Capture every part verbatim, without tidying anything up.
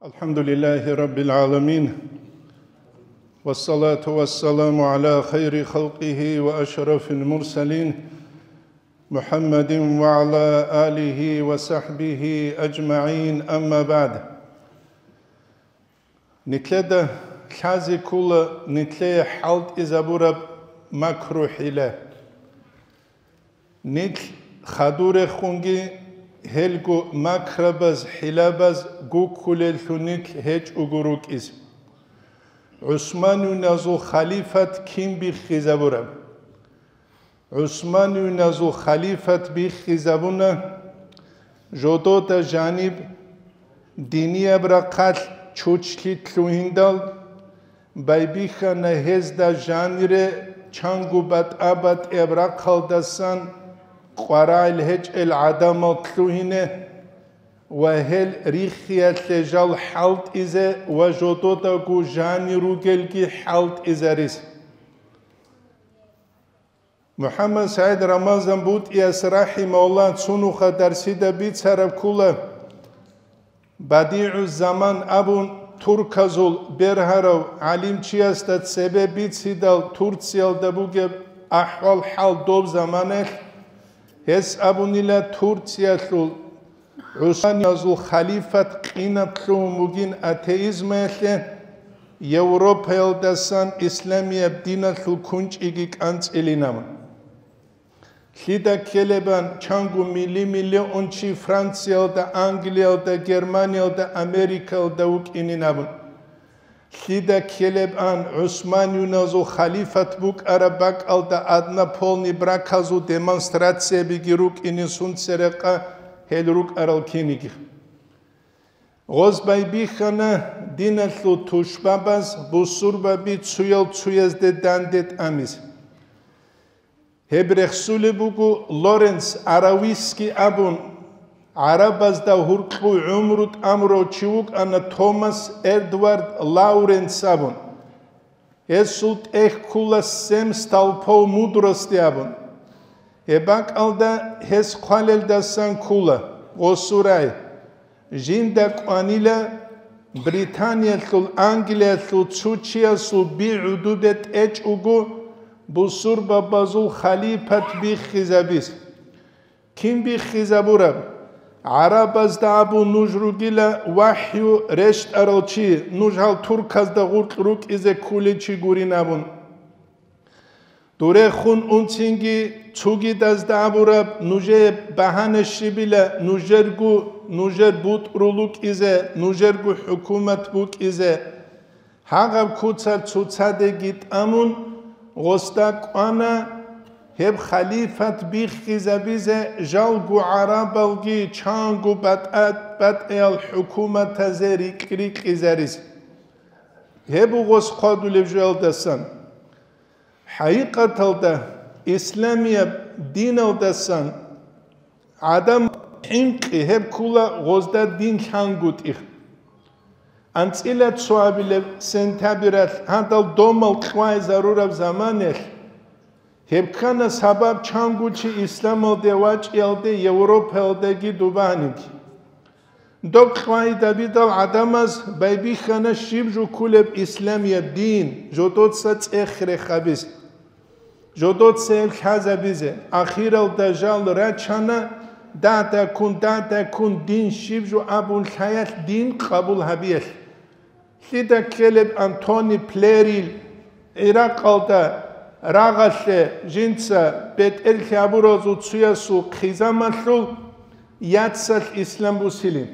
الحمد لله رب العالمين، والصلاة والسلام على خير خلقه وأشرف المرسلين، محمد وعلى آله وصحبه أجمعين، أما بعد. Нилъеда лъазе ккола нилъее хӀалтӀизабураб макру-хӀила. Нилъ хадурехунги гьелго макрабаз, хӀилабаз гуккулеллъун нилъ гьечӀого рукӀиз. ГӀусмануйназул халифат кин биххизабураб? ГӀусмануйназул халифат биххизабуна жодода жаниб динияб рахъалъ чучлъи лъугьиндал, байбихьана гьезда жанире чанго батӀа-батӀияб рахъалдасан къварагӀел гьечӀел гӀадамал лъугьине ва гьел риххиялъе жал хӀалтӀизе ва жододаго жани ругелги хӀалтӀизарис. МухӀаммад СагӀид Рамазан БутӀияс рахӀимагьуллагь цунуха дарсида бицараб ккола, БадигӀуззаман абун турказул бергьарав гӀалимчиясда цебе бицидал Турциялда бугеб ахӀвал-хӀал доб заманаялъ, гьес абунила Турциялъул ГӀусмануйназул халифат къинаб лъугьун бугин атеизмаялъе, Европаялдасан исламияб диналъул кунчӀиги кӀанцӀилин абун. Лъида ккелебан чанго мили-миллион чи Франциялда, Англиялда, Германиялда, Америкаялда вукӀинин абун. Лъида ккелебан ГӀусмануйназул халифат букӀараб бакӀалда однополный браказул демонстрациябиги рукӀинин сунцерекъа гьел рукӀарал киниги. Гъоз байбихьана диналъул тушбабаз бусурбаби цуял-цуязде данде тӀамиз. Гьеб рехсулеб буго Лоренц Аравийский абун, гӀарабазда гьуркьув гӀумру тӀамурав чи вукӀана Томас Эдвард Лоуренц абун. Гьесул тӀехь ккула «Семь столпов мудрости» абун. Гьеб бакӀалда гьес хъвалелдасан ккула, гъосул рагӀи. Жинда кӀванила Британиялъул, Англиялъул цо чиясул би гӀодобе тӀечӀого бусурбабазул халифат биххизабиз. Кин биххизабураб? ГӀарабазда абун нуж ругила вахӀю рещтӀарал чи, нуж гьал турказда гъуркь рукӀизе ккулел чи гурин абун. Дурехун унцинги цогидазда абураб нужее багьана щибила нужерго, нужер бутӀрул рукӀизе, нужерго хӀукумат букӀизе. Гьагъаб куцал цоцадеги тӀамун, гъосда кӀвана гьеб халифат биххизабизе жалго гӀарабалги чанго батӀа-батӀиял хӀукуматазе рикь-рикьизарис. Гьеб буго гъос хъвадулеб жоялдасан. ХӀакъикъаталда, исламияб диналдасан гӀадамал хӀинкъи гьеб ккула гъозда дин лъангутӀи. АнцӀила цоабилеб сентябралъ гьадал домал кьвай зарураб заманалъ, гьеб ккана сабаб чанго чи исламалде вачӀиялде Европаялдаги дубаниги. Доб кьвайда бидал гӀадамаз байбихьана щиб жо ккулеб исламияб дин, жодоца цӀех рехабизе. Жодоца гьеб лъазабизе. Ахиралда жал рачана, дагьдаккун, дагьдаккун дин щиб жо абун лъаялъ дин къабул гьабиялъ. Лъида ккелеб Антони Плерил, ГӀиракъалда рагъалъе жинца бетӀерлъи гьабуразул цуясул хъизамалъул яцалъ ислам бусилин.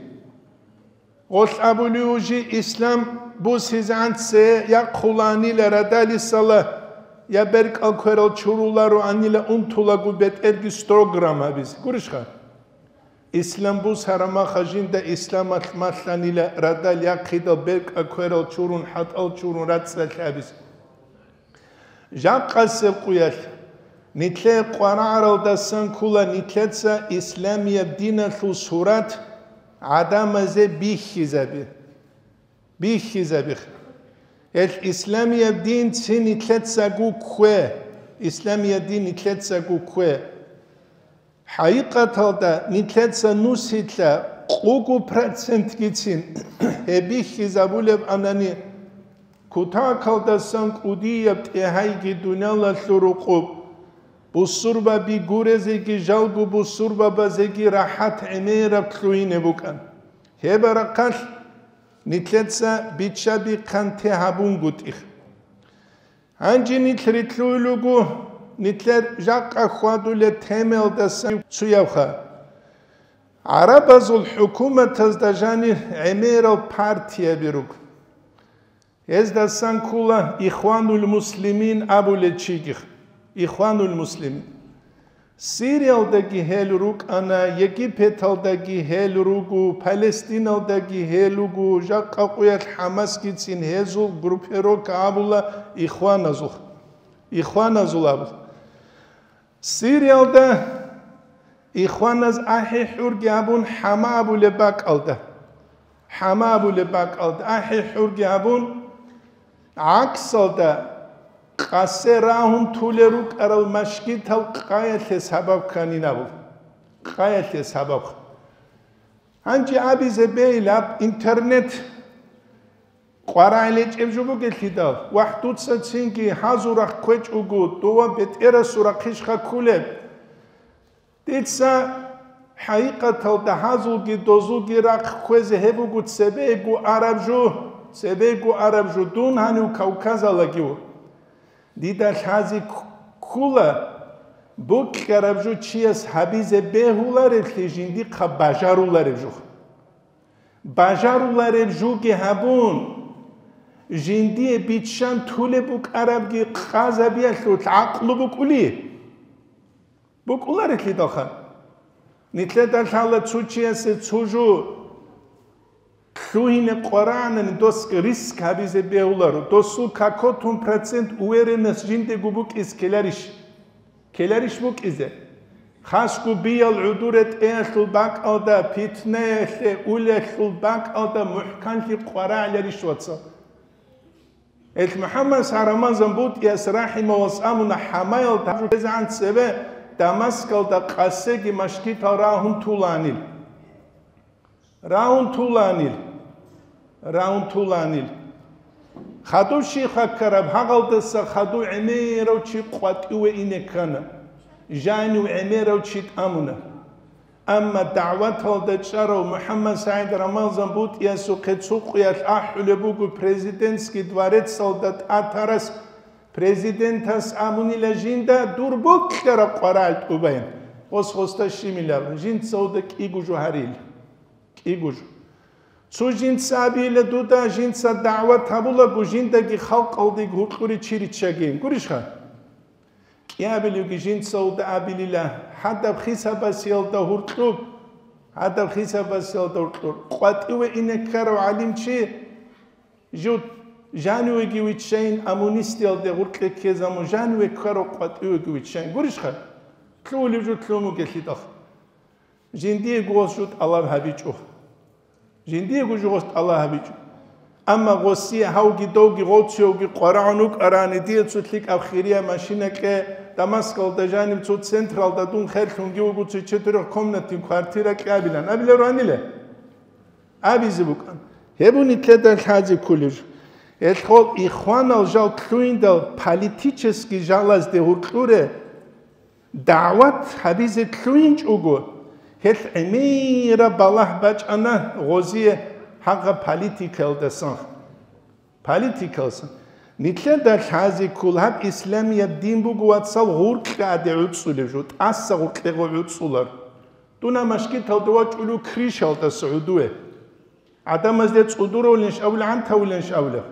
Гъолъ абулев жи ислам бусизегӀан цее яхъуланила радалисала, я беркӀал кверал чурулароанила унтулаго бетӀерги строграм гьабизе. Гурищха? Ислам бусараб маха жинда исламалъ малъанила радал яхъидал беркӀа кверал чурун, хӀатӀал чурун рацӀцӀалъ гьабизе. Жакъасеб къуялъ, нилъее къварагӀаралдасан ккула нилъеца исламияб диналъул сурат гӀадамазе бихьизаби. Бихьизабихъ. Гьелъ исламияб дин цин нилъецаго ккве. Исламияб дин нилъецаго ккве. ХӀакъикъаталда нилъеца нусилъа Къугу процентгицин гьеб бихьизабулеб анани, кутакалдасан кӀудияб тӀегьайги дуниялалъул рукъуб, бусурбаби гурезеги жалго бусурбабазеги рахӀат гӀемераб лъугьине букӀан. Гьеб рахъалъ нилъеца бичча-бихъан те гьабунгутӀи. Гьанже нилъ рилълъуй руго, нилъер жакъа хьвадулеб темаялдасан цуябха. ГӀарабазул хӀукуматазда жанир гӀемерал партияби руго. Гьездасан ккола Ихванул Муслимин абулел чигих. Ихванул Муслимин. Сириялдаги гьел рукӀана, Египеталдаги гьел руго, Палестиналдаги гьел руго, жакъа къуялъ ХӀамасгицин гьезул группировка абула Ихваназул. Ихваназул абула. Сириялда Ихваназ ахӀи-хӀурги абун ХӀама абулеб бакӀалда. ХӀама абулеб бакӀалда ахӀи-хӀурги абун, гӀаксалда къасе рагьун тулел рукӀарал машгитал къаялъе сабаб кканин абу. Къаялъе сабаб. Гьанже абизе бейилаб интернет къварагӀел гьечӀеб жо бугелъидал, вахӀ, дуца цинги гьазул рахъ кквечӀого, дова бетӀерасул рахъищха кколеб? Дица хӀакъикъаталда гьазулги дозулги рахъ кквезе гьеб буго цебего араб жо, цебего араб жо дун гьанив Кавказалаги ву. Дида лъазе кк-, ккула, бокьараб жо чияс гьабизе бегьулареблъи жиндихъа бажарулареб жо. Бажарулареб жоги гьабун, жиндие биччан тулеб букӀарабги къазабиялъулъ гӀакълу букӀули? БукӀуларелъидалха. Нилъеда лъала цо чиясе цо жо лъугьине къварагӀанани дос риск гьабизе бегьуларо, досул какотун процент уверенность жиндего букӀиз ккеларищ? Ккеларищ букӀизе? Хасго биял гӀодор ретӀеялъул бакӀалда, питнаялъе улелъул бакӀалда мухӀканлъи къварагӀиларищ, вацал? Эл МухӀаммад Рамазан БутӀияс рахӀимагьуллагь абуна, ХӀамаялда гьаб жо ккезегӀан цебе Дамаскалда къасеги машгитал рагьун туланил. Рагьун туланил, рагьун туланил. Хадув щиб ккараб, гьагъалдаса хадув гӀемерав чи къватӀиве ине ккана, жанив гӀемерав чи тӀамуна. Амма дагӀваталда чӀарав МухӀаммад СагӀид Рамазан БутӀиясухъе цо къуялъ ахӀулеб буго президентский дворецалда тӀатарас, президентас абунила жинда: «Дур бокьараб къварагӀел тӀубайин, гъос гъосда щибилан, жинцалда кӀиго жо гьарил». КӀиго жо. Цо жинца абила дуда, жинца дагӀват гьабулаго, жиндаги халкъалдаги гьуркьуре чи риччагейин. Гурищха? КӀиабилевги жинцалда абилила, гьадаб хисабасиялда гьуркьуб, гьадаб хисабасиялда гьуркьур. КъватӀиве ине ккарав гӀалимчи, жив жанивеги виччайин, амунистиялде гьуркье ккезамун жаниве ккарав къватӀивеги виччайин. Гурищха? Лъугьулев жо лъугьун вугелъидал. Жиндиего гъос жо тӀалаб гьабичӀо. Жиндиего жо гъос тӀалаб гьабичӀо. Амма гъосие гьавги довги гъовцевги къварагӀун вукӀарани, дие цо лъикӀаб хирия машина кье, Дамаскалда жаниб цо централда дун херлъунги вуго цо четырёхкомнатный квартира кьабилан абиларо гьаниле? Абизе букӀан. Гьеб нилъеда лъазе кколеб жо. Гьелъул ихванал жал лъугьиндал политический жалазде гьуркьуре, дагӀват гьабизе лъугьинчӀого, гьелъ гӀемераб балагь бачӀана гъозие гьагъа политикаялдасан. Политикалсан. Нилъеда лъазе ккол гьаб исламияб дин буго, вацал, гъуркьа гӀаде гӀуцӀулеб жо, тӀаса гъуркьего гӀуцӀулар. Дун машгиталда вачӀулев крышалдаса гӀодове. ГӀадамазде цӀудуравулинщ абулеб, гӀантавулинщ абулеб.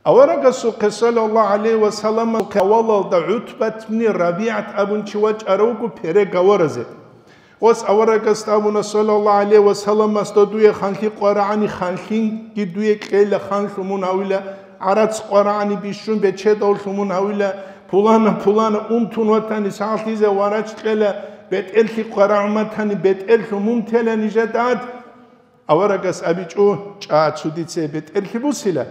Аварагасухъе, саллаллагьу гӀалайгьи ва салламасухъе, авалалда ГӀутбат ибн РабигӀат абун чи вачӀарав вуго переговоразе. Гъос аварагасда абуна, саллаллагьу гӀалайгьи ва салламас, додуе ханлъи къварагӀани, ханлъинги дуе кьела, ханлъун мун гьавила, гӀарац къварагӀани, бищун бечедавлъун мун гьавила, пулана, пулана, унтун ватани, сагълъизе варач кьела, бетӀерлъи къварагӀун ватани, бетӀерлъун мун тела нижеда гӀад. Аварагас абичӀо, чӀа, цо дица бетӀерлъи бусила.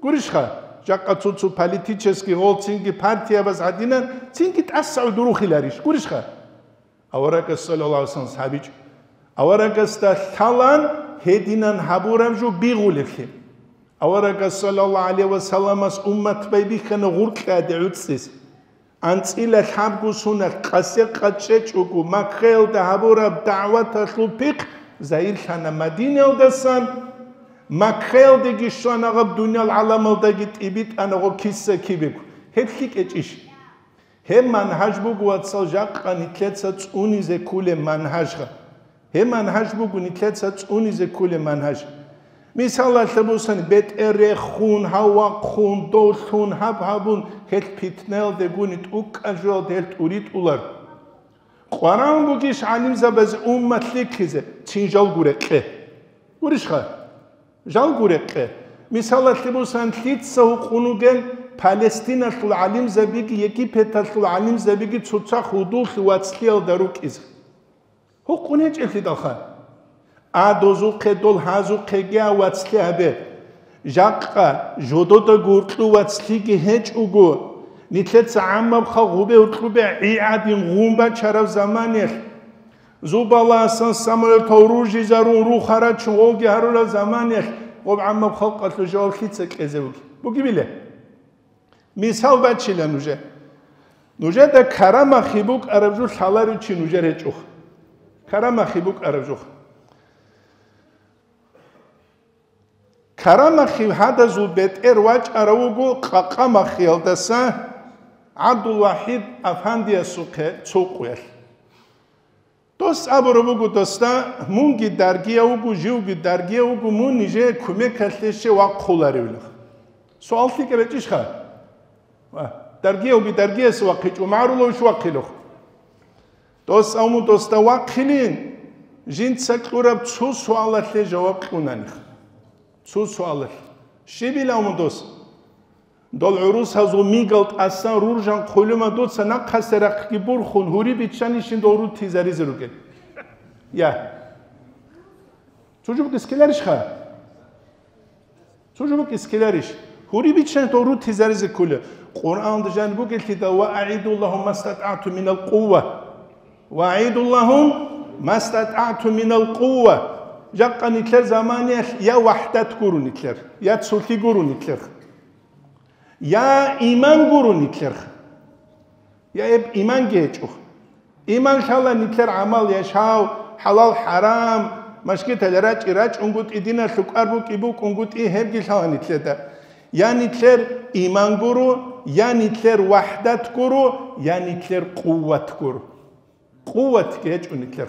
Гурищха, жакъа цо-цо политический гъол цинги партиябаз гӀадинан, цинги тӀаса гӀодорухъиларищ? Гурищха? Аварагас, саллаллагьу гӀалайгьи ва саллам, гьабичӀо. Аварагасда лъалан гьединан гьабураб жо бигъулеблъи. Аварагас саллаллагьу гӀалайгьи ва салламас уммат байбихьана гъуркьаде гӀуцӀцӀис. АнцӀила лъабго соналъ къасе къачӀечӀого Маккаялда гьабураб дагӀваталъул пихъ загьирлъана Мадинаялдасан, Маккаялдеги щвана гъаб, дуниял гӀаламалдаги тӀибитӀана гъо киса-кибего. Гьеб лъикӀ гьечӀищ? Гьеб мангьаж буго, вацал, жакъа нилъеца цӀунизе кколеб мангьажха. Гьеб мангьаж буго нилъеца цӀунизе кколеб мангьаж. Мисалалъе босани, бетӀер рехун, гьав вахъун, дов лъун, гьаб гьабун, гьелъ питнаялдегуни тӀукӀа жоялда гьел тӀуритӀулар. Къваран бугищ гӀалимзабазе уммат лъикӀлъизе? Цин жалго рекъе. Гурищха? Жалго рекъе. Мисалалъе босани, лъица гьукъун вугел Палестиналъул гӀалимзабиги Египеталъул гӀалимзабиги цоцахъ гьудуллъи вацлъиялда рукӀизе? Гьукъун гьечӀеблъидалха. А дозухъе, дол гьазухъеги а вацлъи гьабе. Жакъа жодода гуркьу вацлъиги гьечӀого, нилъеца гӀаммаб халкъ гьубе-гьоркьубе гӀи гӀадин гъун бачараб заманиялъ, зубаласан самолетал ружизарун, рух гьарачун гъовги гьарураб заманиялъ гъоб гӀаммаб халкъалъул жаваб лъица кьезе буги? Бугебиле? Мисал бачила нужер. Нужеда карамахи букӀараб жо лъаларев чи нужер гьечӀоха. Карамахи букӀараб жоха. Карамахи гьадазул бетӀер вачӀарав вуго Къакъамахиялдаса ГӀабдулвахӀид афандиясухъе цо къоялъ. Дос абураб буго досда: «Мунги даргияв вуго, живги даргияв вуго, мун нижее кумекалъе щай вахъуларевилан?» Суал лъикӀаб гьечӀищха? Ва, даргиявги даргиясе вахъичӀо, магӀрулавищ вахъилев? Дос абун досда вахъилин, жинца кьураб цо суалалъе жаваб кьунаних. Цо суалалъе. Щибила абун дос? Дол гӀурусазул мигал тӀасан руржан хъулума дуца нахъасе рахъги бурхун, гьури биччанищин дол рутизаризе ругел. Я. Цо жо букӀискеларищха? Цо жо букӀискеларищ? Гьури биччани дол рутизаризе ккола. Къуръаналда жан бугелъидал: «Ва аъидуллагьум мастатӀагӀтум минал къувва». «Ва аъидуллагьум мастатӀагӀтум минал къувва». Жакъа нилъер заманиялъ я вахӀдат гуро нилъер, я цолъи гуро нилъер. Я иман гуро нилъер. Я эб иманги гьечӀо. Иман лъала нилъер гӀамал, яшав, хӀалал-хӀарам, машгитал рачӀи рачӀунгутӀи, диналъул кӀвар букӀи букӀунгутӀи, гьебги лъала нилъеда. Я нилъер иман гуро, я нилъер вахӀдат гуро, я нилъер къуват гуро. Къуватги гьечӀо нилъер.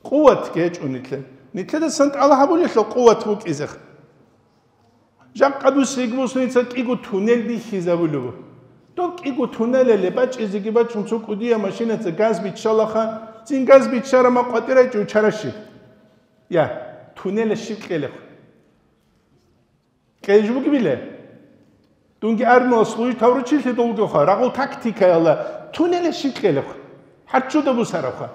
Къуватги гьечӀо нилъер. Нилъедасан тӀалаб гьабулелъул къуват букӀизехъ. Жакъа дус йигмусница кӀиго туннел бихьизабулеб. Доб кӀиго туннелале бачӀизеги бачун цо кӀудияб машинаца газ биччалаха, цин газ биччарама къватӀирайчӀо чараши. Я, туннела щиб кьелехъ? Кьейж бугебиле? Дунги армиялъ служить гьавручилъи долгоха, рагъул тактикаялда туннела щиб кьелехъ? ХӀарччуда бусарабха.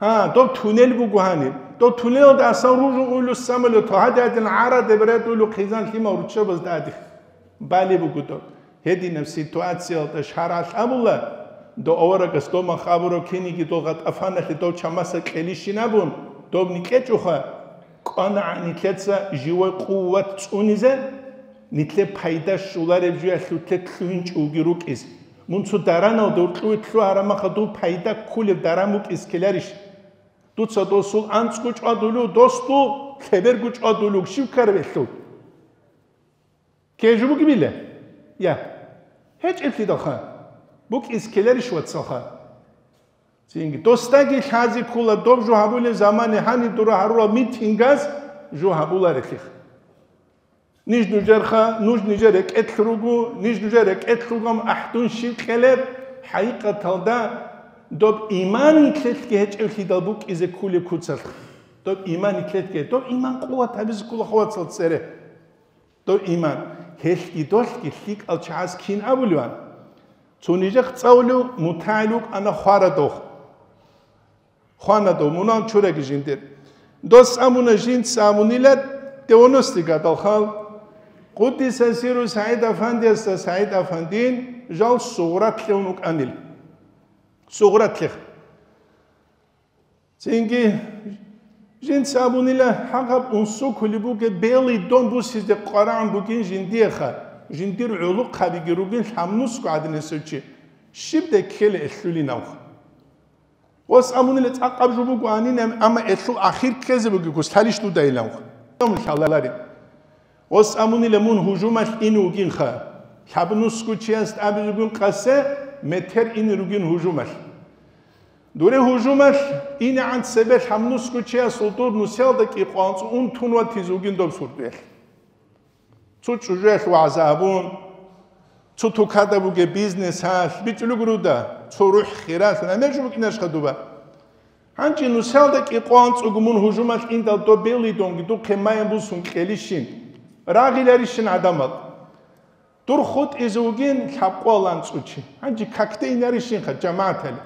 А, доб туннел буго гьаниб. Доб туннелалда асан ружун уйлу самолет, гьади-гьадин гӀараде беред уйлу хъизан лъимал руччабазда гьади. Бали буго доб. Гьединаб ситуациялда шаргӀалъ абула, дов аварагас домах абурав киниги дол гъатӀафаналъе дов чамаса кьелищин абун, доб никӀечӀоха, кӀванагӀан нилъеца живой къуват цӀунизе, нилъе пайда щолареб жуялъулъе лъугьинчӀо вуги рукӀиз. Мун цо дараналда уркьуе лъугьарамаха дов пайда кколеб даран букӀиз ккеларищ? Дуца досул анцӀго чӀвадулев, досул лъеберго чӀвадулев, щив ккараб гьелъул? Ккей жо бугебиле? Я. ГьечӀеблъидалха. БукӀиз ккеларищ, вацалха? Цинги. Досдаги лъази ккола, доб жо гьабулеб замане гьаниб дура гьарурал митингаз жо гьабуларелъих. Ниж нужерха, нуж нижер рекӀелъ руго, ниж нужер рекӀелъ ругам ахӀдун щиб кьелеб, хӀакъикъаталда доб иман нилъелъги гьечӀеблъидал букӀизе ккулеб куцалъ. Доб иман нилъелъги, доб иман къуват гьабизе ккола хавацал цере. Дов иман, гьелъги долъги лъикӀал чагӀаз кин абуливан? Цо нижехъ цӀалулев мутагӀил вукӀана хварадов. Хванадов, мунагьал чураги жиндир. Дос абуна жинца абунила девяностый гадалхал, Къуддиса сиру СагӀид Афандиясда СагӀид Афандин жал сугъратлъун вукӀанил. Сугъратлъих. Цинги жинца абунила, гьагъаб унсукулеб бугеб белый дом бусизе къварагӀун бугин жиндиеха, жиндир гӀолохъабиги ругин лъабнусго гӀадинасев чи, щибдай ккела элъулин авха. Гъос абунила, цӀакъаб жо буго гьанин, амма элъул ахир ккезе бугеб гуслъалищ дуда илавха. Лъаларин. Гъос абунила, мун гьужумалъ ине вугинха. Лъабнусго чияс абизегун къасе метер ине ругин гьужумалъ. Дуре гьужумалъ инегӀан цебе лъабнусго чиясул дур нусиялда кӀикъвалцӀун тун ватизе вугин доб сурдуялъ. Цо чӀужуялъ вагӀза абун, цо тукада бугеб бизнесалъ, бичӀулугуруда, цо рухӀ хиралъ, гӀемер жо букӀинашха дуба. Гьанже нусиялда кӀикъвалцӀуго мун гьужумалъ индал доб белый донги духъе майян бусун кьелищин, рагъиларищин гӀадамал. Дур хутӀизе вугин лъабкъоялда анцӀучи. Гьанже какде инарищинха, жамагӀатали.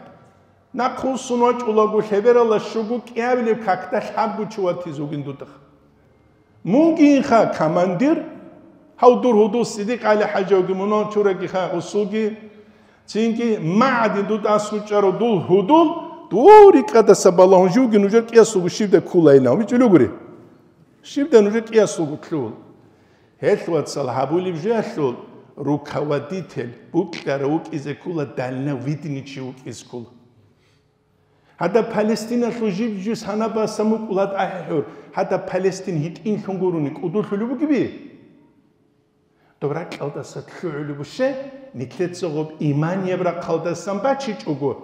Нахъвуссун вачӀулаго лъебералда щуго кӀиабилеб какда лъабго чи ватизе вугин дудах. Мунгинха командир, гьав дур гьудул Сидикъ ГӀали-хӀажавги мунал чурагиха гъусулги, цинги магӀадин дуда аскӀучӀарав дул гьудул, дур рикӀкӀадаса балагьун живги нужер кӀиясулго щибдай ккулайилан, бичӀулугури. Щибдай нужер кӀиясулго ккул. Гьелъ, вацал, гьабулеб жоялъул руководитель, букьарав вукӀизе ккула, дальновидный чи вукӀизе ккула. Гьадаб Палестиналъул жиб-жиб санаб басан букӀула гьадаб ахӀи-хӀур, гьадаб Палестин гьитӀинлъун гурони кӀудулъулеб бугеби? Доб ракьалдаса лъугӀулеб буше, нилъеца гъоб иманияб рахъалдасан бачичӀого.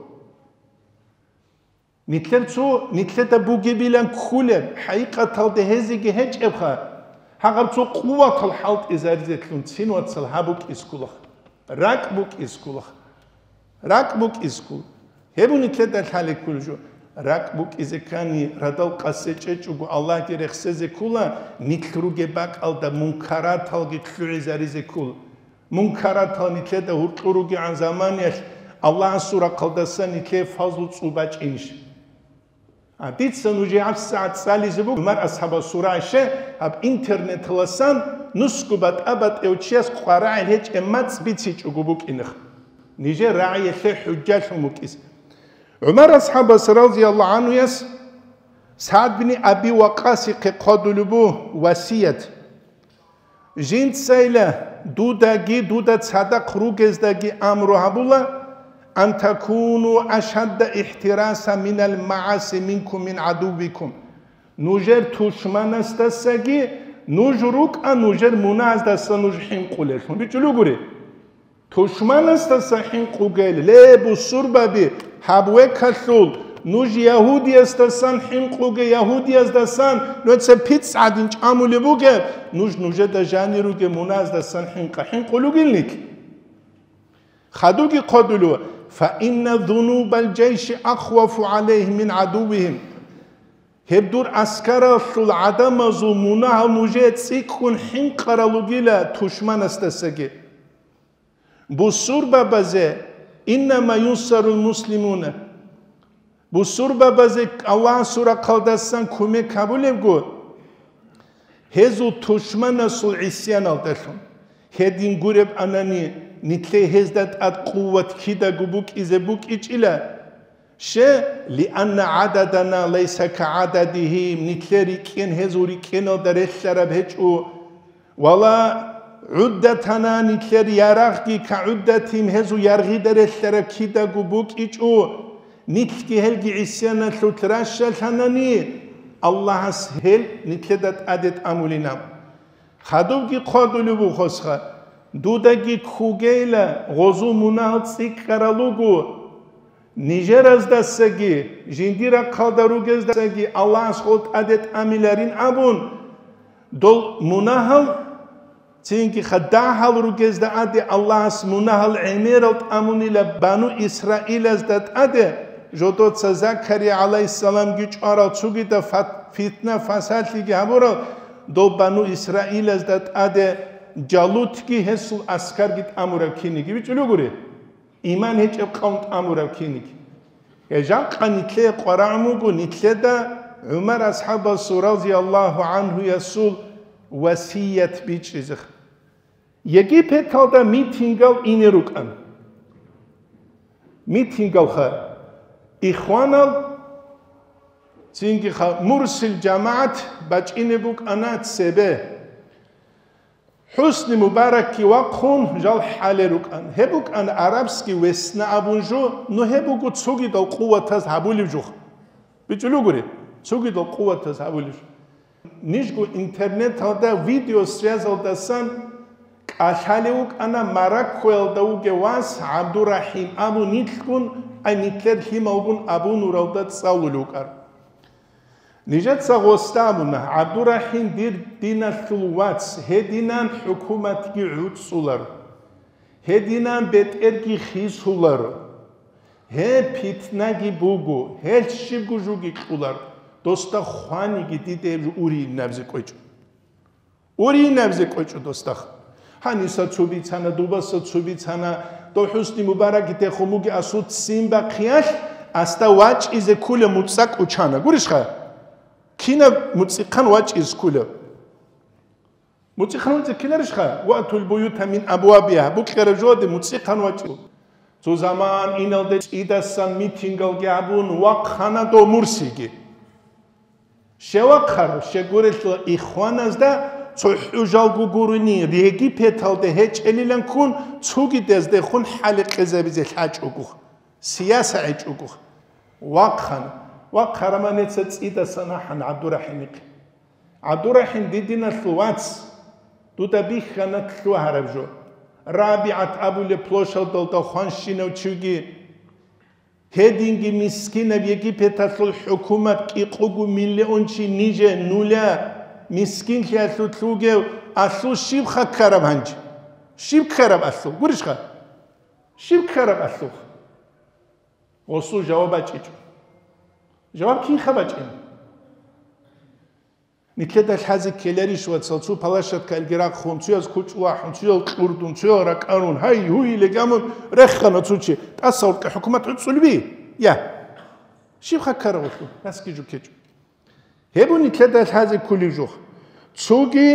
Нилъер цо, нилъеда бугебилан кколеб, хӀакъикъаталда гьезеги гьечӀебха, гьагъаб цо къуватал хӀалтӀизаризелъун цин, вацал, гьаб букӀизе ккулаха. РакӀ букӀизе ккулаха. РакӀ букӀизе ккул. Гьеб нилъеда лъалеб кколеб жо. РакӀ букӀизе ккани, радал къасе чӀечӀого Аллагьги рехсезе ккула, нилъ ругеб бакӀалда мункараталги лъугӀизаризе ккула. Мункаратал нилъеда гьуркьур ругегӀан заманиялъ Аллагьасул рахъалдасан нилъее фазлу цӀу бачӀинищ? А дица нужее гьабсагӀат цӀализе буго ГӀумар асхӀабасул рагӀи, гьаб интернеталасан нусго батӀа-батӀияв чияс къварагӀел гьечӀеб мацӀ бицичӀого букӀинеха. Нижер рагӀиялъе хӀужжалъун букӀизе. ГӀумар асхӀабас, разияллагьу гӀанхуяс, СагӀд бин Аби Вакъасихъе хъвадулеб буго васият. Жинцайила дудаги дуда цадахъ ругездаги амру гьабула, ан такуну ашадда ихтираса минал мааси минкум мин гӀадуввикум. Нужер тушманасдасаги, нуж рукӀа нужер мунагьаздаса нуж хӀинкъулелъун. БичӀулугури. Тушманасдаса хӀинкъугел, ле, бусурбаби, гьаб векалъул, нуж ягьудиясдасан хӀинкъуге, ягьудиясдасан нуца пицӀ гӀадин чӀамулеб бугеб, нуж нужеда жанир ругеб мунагьаздасан хӀинкъа, хӀинкъулугилник. Хадуги хъодулев, фа инна зунубал жайши ахвафу гӀалайгьим мин гӀадуввигьим. Гьеб дур аскаралъул гӀадамазул мунагьал нужее цӀикӀкӀун хӀинкъарал ругила тушманасдасаги. Бусурбабазе, иннама юнсарул муслимуна. Бусурбабазе Аллагьасул рахъалдасан кумек гьабулебго, гьезул тушманасул гӀисяналдалъун. Гьедин гуреб анани, нилъее гьезда тӀад къуват кидаго букӀизе букӀичӀила. Ще, лианна гӀададана лайса кагӀададигьим, нилъер рикӀкӀен гьезул рикӀкӀеналда релълъараб гьечӀо. Вала гӀуддатана, нилъер ярагъги кагӀуддатим, гьезул яргъида релълъараб кидаго букӀичӀо. Нилъги гьелги гӀисяналъулъ ращалъанани, Аллагьас гьел нилъеда тӀаде тӀамулина. Хадубги хъвадулев вухосха, дудаги ккугейила, гъозул мунагьал цӀикӀкӀарал руго. Нижераздасаги, жиндир рахъалда ругездасаги Аллагьас гъол тӀаде тӀамиларин абун, дол мунагьал, цинги хадагьал ругезда аде Аллагьас мунагьал гӀемерал тӀамунила бану Исраилазда тӀаде, жодоца Закария гӀалайгьиссаламги чӀварал цогидаб фат-, фитна-фасадлъиги гьабурал, дол бану Исраилазда тӀаде Жалутги гьесул аскарги тӀамураб киниги бичӀчӀулугури. Иман гьечӀеб къавм тӀамураб киниг. Гьеб жакъа нилъее къварагӀун буго нилъеда ГӀумар асхӀабасул разияллагьу гӀанхуясул васият бичӀчӀизе. Египеталда митингал ине рукӀан. Митингалха, ихванал, Цинги ха-, Мурсил жамагӀат бачӀине букӀана цебе. ХӀусни Мубаракги вахъун жал хӀале рукӀан. Гьеб букӀана арабский весна абун жо, ну гьеб буго цогидал къуватаз гьабулев жо. БичӀулев гури, цогидал къуватаз гьабулев жо. Нижго интернеталда видео связалдасан кӀалъалев вукӀана Мароккоялда вугев вас ГӀабдурахӀим абун нилъгун, ай нилъер лъималгун абунуралда цӀалулев вукӀар. Нижеца гъосда абуна, ГӀабдурахӀим дир диналъул вац, гьединан хӀукуматги гӀуцӀулар, гьединан бетӀерги хисулар, гьеб питнаги буго, гьелъ щибго жуги кьулар, досда хваниги диде гьеб жо уринабзе кӀвечӀо. Уринабзе кӀвечӀо досдахъ. Гьаниса цо бицана, дубаса цо бицана, дов ХӀусни Мубаракги техун буги асул ццин бахъиялъ, асда вачӀизе ккула муцӀа кӀучана. Гурищха? Кинаб муцӀихъан вачӀизе ккула? МуцӀихъан вачӀизе ккеларищха? «Ватул буюта мин абуабиха», букьараб жоде муцӀихъан вачӀо. Цо заман иналде цӀидасан митингалги гьабун, вахъана дов Мурсиги. Щевахъар, щегурелъул ихваназда цо хӀужалго гурони, Египеталде гьечӀелилан ккун, цугидездехун хӀаликъизабизе лъачӀого, сияса гьечӀого. Вахъана. Вахъараман гьеца цӀидасан ахӀана ГӀабдурахӀимихъе. ГӀабдурахӀим, дидиналъул вац, дуда бихьана лъугьараб жо. РабигӀат абулеб площадалда хванщинав чиги, гьединги мискинаб Египеталъул хӀукумат кӀикъого миллион чи ниже нуля, мискинлъиялъулъ вугев алъул щиб хъа ккараб гьанже? Щиб ккараб алъул? Гурищха? Щиб ккараб алъул? Гъосул жаваб бачӀичӀо. Жаваб кинха бачӀина? Нилъеда лъазе ккеларищ, вацал, цо палащадкалги рахъун, цояз кучӀ вахӀун, цоял кьурдун, цоял ракӀарун, гьай-гьуй легамун рехана цо чи, тӀаса гьоркье хӀукумат гӀуцӀулеби? Я. Щиб хъа ккараб алъул? Расги жо ккечӀо. Гьеб нилъеда лъазе кколеб жо. Цоги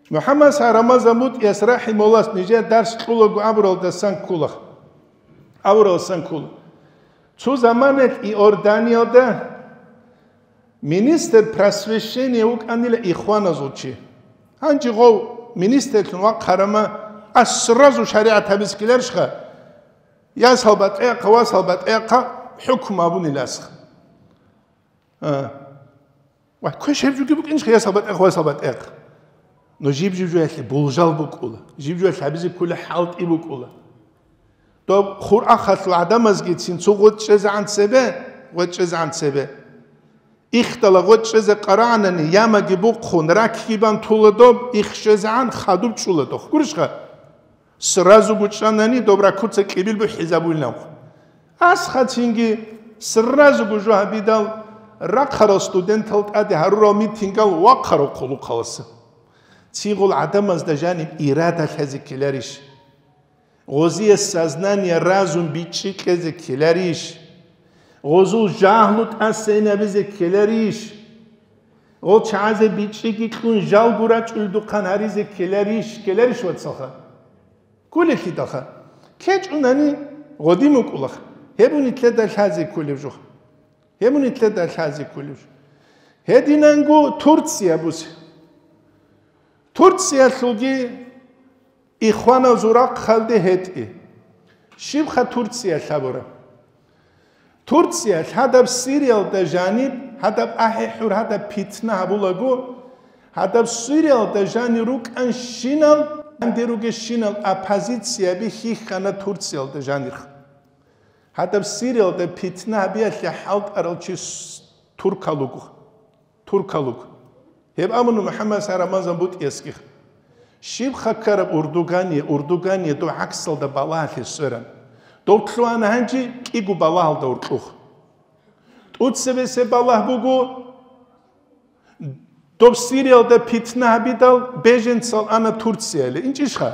МухӀаммад Рамазан БутӀияс рахӀимагьуллагьас нижер дарс кьолаго абуралдасан ккола. Абуралдасан ккола. Цо заманалъ Иорданиялда министр просвещения вукӀанила ихваназул чи. Гьанже гъов министрлъун вахъарама, а сразу шаригӀат гьабизе ккеларищха? Ясал батӀияб, васал батӀияб хӀукму абуниласха. А. Ва квеш гьеб жуги букӀинчӀха, ясал батӀияб, васал батӀияб. Но жиб-жиб жоялъе болжал букӀула, жиб жоялъе гьабизе ккола хӀалтӀи букӀула. Доб хурахъалъул гӀадамазгицин цо гъотӀ чӀезегӀан цебе, гъотӀ чӀезегӀан цебе. Ихдала гъотӀ чӀезе къарагӀанани, ямаги бухъун, ракги бан тула доб, их чӀезегӀан хадуб чӀула дох. Гурищха? Сразу гучӀанани доб ракуца кӀибил бухӀизабулинавхъ. Асхъа цинги сразу гужу гьабидал, рахъарал студентал тӀаде гьарурал митингал вахъарал хъулухъаласа. Цигъул гӀадамазда жаниб ирада лъазе ккеларищ? Гъозие сознание, разум бичӀчӀи кьезе ккеларищ? Гъозул жагьлу тӀасайинабизе ккеларищ? Гъол чагӀазе бичӀчӀиги кьун жалго рачӀулдухъан гьаризе ккеларищ, ккеларищ, вацалха? Кколелъидалха. КкечӀунани гъодин вукӀулаха. Гьеб нилъеда лъазе кколеб жо. Гьеб нилъеда лъазе кколеб жо. Гьединанго Турция бусе. Турциялъулги ихваназул рахъалде гьетӀи. Щибха Турция лъабураб? Турция лъадаб Сириялда жаниб, гьадаб ахӀи-хӀур, гьадаб питна гьабулаго, гьадаб Сириялда жанир рукӀанщинал, данде ругещинал оппозицияби хьихьана Турциялда жанир. Гьадаб Сириялда питна гьабиялъе хӀалтӀарал чи с-, туркал руго. Туркал руго. Гьеб абуна МухӀаммад Рамазан БутӀиясги. Щиб хъа ккараб Урдугание, Урдугание дов гӀаксалда балагьалъе сверан. Дов лъугьана гьанже кӀиго балагьалда уркьух. ТӀуцебесеб балагь буго, доб Сириялда питна гьабидал беженцал ана Турцияле. ИнчӀищха?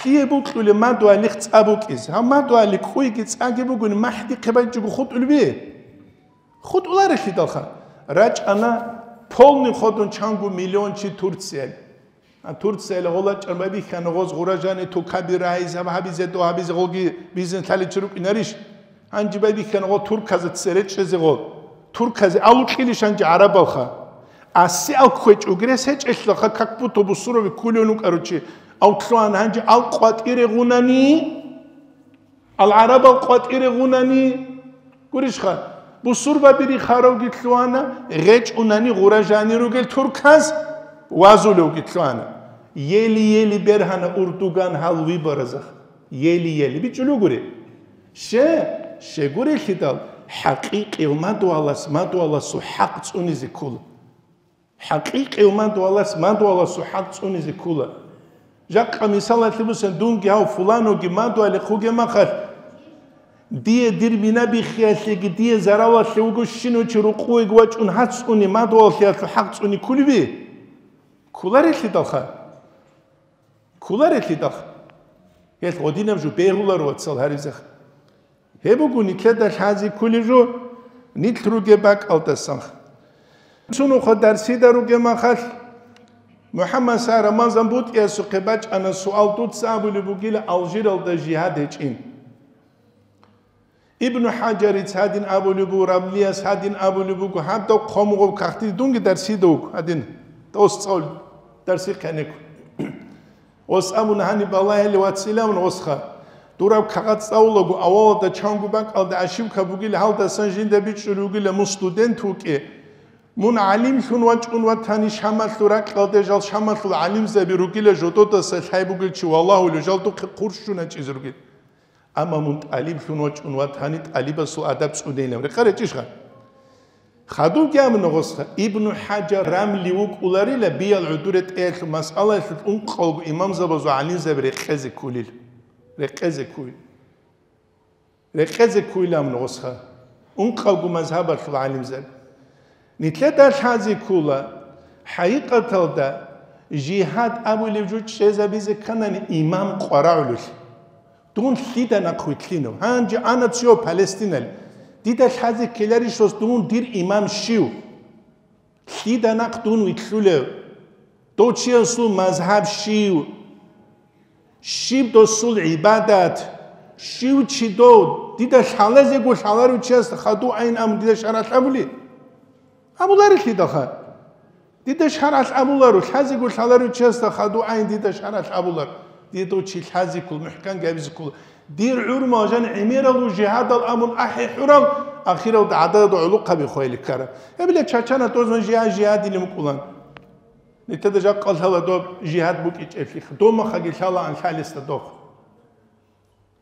Лъие букьулеб мадугьалихъ цӀа букӀизе. Гьав мадугьали кӀуйги цӀаги бугони, махӀдихъе байчӀого хутӀулеб? ХутӀуларелъидалха. РачӀана полный ходун чанго миллион чи Турцияле. А Турцияле гъола чӀарбабихьана гъоз гъура жани тукаби рагьизе, гьаб гьабизе, дов гьабизе, гъоги бизнес лъаличи рукӀинарищ? Гьанже байбихьана гъо турказда цере чӀезе гъо. Турказе алукьилищ гьанже гӀарабалха. Аси ал кквечӀ угрес гьечӀелъаха, как будто бусурбаби ккулев вукӀарав чи. Ав лъугьана гьанже ал къватӀире гъунани, ал гӀарабал къватӀире гъунани, гурищха, бусурбаби рихаравги лъугьана, гъечӀунани гъура жани ругел турказ вазулевги лъугьана. Ели-ели бергьана Урдуган гьал выборазах. Ели-ели. БичӀчӀулев гури. Ще, щегурелъидал, хӀакъикъияв мадугьалас мадугьаласул хӀакъ цӀунизе ккола. ХӀакъикъияв мадугьалас мадугьаласул хӀакъ цӀунизе ккола. Жакъа мисалалъе бусен, дунги гьав фуланоги мадугьалихъ вугеб махалъ, дие дир бина биххиялъеги, дие заралалъе вуго щинав чи рукъувеги вачӀун гьацӀцӀуни мадугьаллъиялъул хӀакъ цӀуни кколеби? Кколарелъидалха. Кколарелъидал. Гьел гъодинаб жо бегьуларо, вацал, гьаризеха. Гьеб буго нилъеда лъази кколеб жо, нилъ ругеб бакӀалдасан. Цунухъа дарсида ругеб махалъ, МухӀаммад Са Рамазан БутӀиясухъе бачӀана суал, дуца абулеб бугила Алжиралда жигьад гьечӀин. Ибну ХӀажарица гьадин абулеб буго, Рамлияс гьадин абулеб буго, гьаб дов хъомугъаб кагътиде дунги дарсида вуго гьадин, дос цӀал дарси кканеку. Ос абуна гьаниб балагьилев вацилавун осха. Дураб кагъат цӀалулаго авалалда чанго бакӀалда ошибка бугила, гьалдасан жинда бичӀчӀулев вугила мун студент вукӀе. Мун гӀалимлъун вачӀун ватани, Шамалъул ракьалде жал Шамалъул гӀалимзаби ругила, жододаса лъай бугел чи валагьулев жал духъе хъурщун гьачӀизе ругел. Амма мун тӀалиблъун вачӀун ватани, тӀалибасул адаб цӀунейилан. Рекъа речӀищха? Хадубги абуна гъосха, Ибну ХӀажар Рамли вукӀуларила биял гӀодоре тӀеялъул масъалаялъул ункъалго имамзабазул гӀалимзаби рекъезе кколил. Рекъезе кколил. Рекъезе кколил абуна гъосха. Ункъалго мазгьабалъул гӀалимзаби. Нилъеда лъази ккола, хӀакъикъаталда, жигьад абулев жо чӀезабизе кканани имам къварагӀулелъи. Дун лъида нахъ вилълъинав? Гьанже ана цо Палестинали. Дида лъази ккеларищ дос дун дир имам щив? Лъида нахъ дун вилълъулев? Дов чиясул мазгьаб щив? Щиб досул гӀибадат? Щив чи дов? Дида лъалазего лъаларев чиясда хадув айин абун дида шаргӀалъ абули? Абуларелъидалха. Дида шаргӀалъ абуларо, лъазего лъаларев чиясда хадув айин дида шаргӀалъ абулар. Дида дов чи лъазиккул, мухӀкан габизиккул. Дир гӀурмал жан гӀемерал жигьадал абун ахӀи хӀурал, ахиралда гӀадада гӀолохъаби хвели ккараб. Гьеб, бля, чачана тӀозван жигьа-, жигьадилин вукӀулан. Нилъеда жакъа лъала доб жигьад букӀичӀеблъи, домахаги лъалаан лъалесда дох.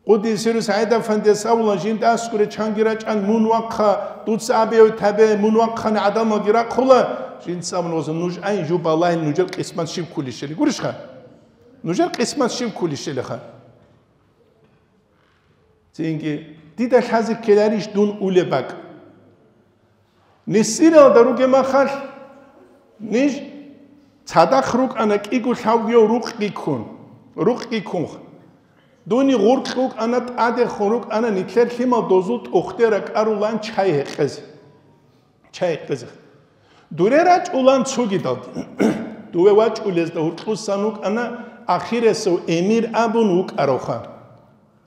Къуддиса сирругьу СагӀид-афандияс абула, жинда аскӀуре чанги рачӀан, мун вахъа, дуца абияве табе, мун вахъани гӀадамалги рахъула, жинца абуна, нуж ай, жо балагьил, нужер къисмат щиб кколищали. Гурищха? Нужер къисмат щиб кколищалиха? Цинги, дида лъази ккеларищ дун улеб бакӀ? Несиралда ругеб махалъ, ниж цадахъ рукӀана кӀиго лъабгояв рукъги ккун, рукъги ккунха. Дуни гъуркь вукӀана, тӀадехун рукӀана, нилъер лъимал дозул тӀохде ракӀарулан чай гьекъезе. Чай гьекъезе. Дуре рачӀулан цогидалги. Дуве вачӀулезда гьуркьусан вукӀана ахирасев эмир абун вукӀаравха.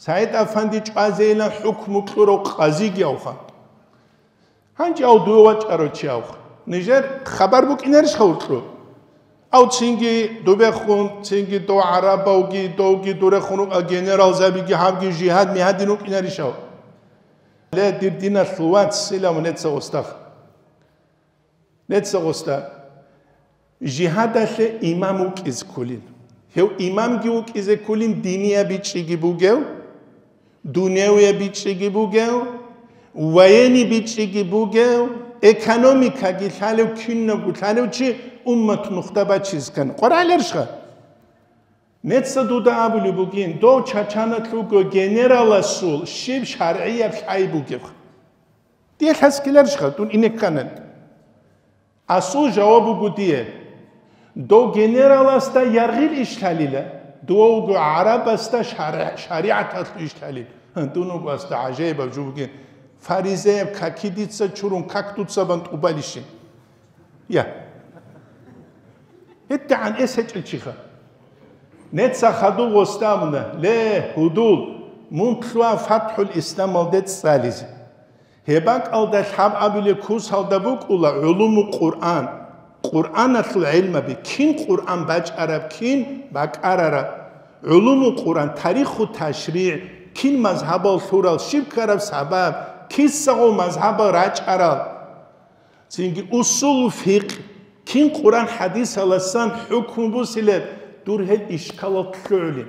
СагӀид-афанди чӀвазейилан хӀукму кьурав къазиги авха. Гьанже ав дуве вачӀарав чи авха. Нижер хабар букӀинарищха гьуркьу? Ав цинги дубехун, цинги дов гӀарабавги, довги дурехун рукӀа генералзабиги, гьабги жигьад-мигьадин вукӀинарищав? Ле, дир диналъул вац, силав неца гъостах. Неца гъоста, жигьадалъе имам вукӀизе кколин. Гьев имамги вукӀизе кколин, динияб бичӀчӀиги бугев, дуневияб бичӀчӀиги бугев, военный бичӀчӀиги бугев, экономикаги лъалев, кинабго лъалев чи уммат нухда бачизе ккани. КъварагӀаларищха? Неца дуда абулеб бугин, дов чачаналъ вуго генераласул щиб шаргӀияб лъай бугеб? Дие лъаскиларищха дун ине кканани? Асул жаваб буго дие: дов генераласда яргъил иш лъалила, дов вуго гӀарабасда шаргӀ-, шаригӀаталъул иш лъалила. Дун вуго асда гӀажаибаб жо бугин, фаризеяб каки дица чурун, как дуца бан тӀубалищин? Я. ГьедигӀан эс гьечӀел чиха. Неца хадув гъостамуна, ле, гьудул, мун лъуа ФатхӀул Исламалде цӀализе. Гьеб бакӀалда лъабабилеб курсалда букӀула гӀулуму Къуръан, Къуръаналъул гӀилмаби, кин Къуръан бачӀараб, кин бакӀарараб, гӀулуму Къуръан, тариху ташригӀ, кин мазгьабал лъурал, щиб ккараб сабаб, кисаго мазгьабал рачӀарал, цинги усулу фикъ, кин Къуръан хӀадисаласан хӀукму бусилеб, дур гьел ишкалал лъугӀулин.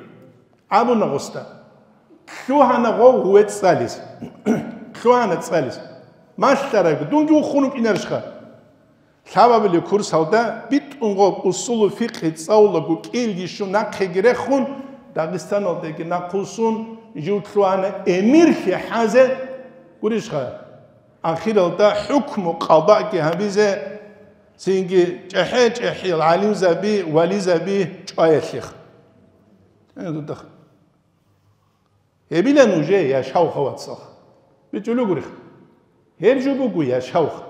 Абуна гъосда. Лъугьана гъов гъуве цӀализ. Лъугьана цӀализ. Малъараб, дунги ухун вукӀинарищха? Лъабабилеб курсалда битӀун гъоб усулу фикъгьи цӀалулаго кӀиги щун нахъеги рехун, Дагъистаналдеги нахъвуссун, жив лъугьана эмирлъи хӀазе, гурищха? Ахиралда хӀукму къадаги гьабизе, цинги чӀехӀе-чӀехӀиял гӀалимзаби, вализаби чӀваялъех. Э, дудах. Гьебилан уже яшавха, вацал. БичӀулев гурих. Гьеб жо буго яшавха.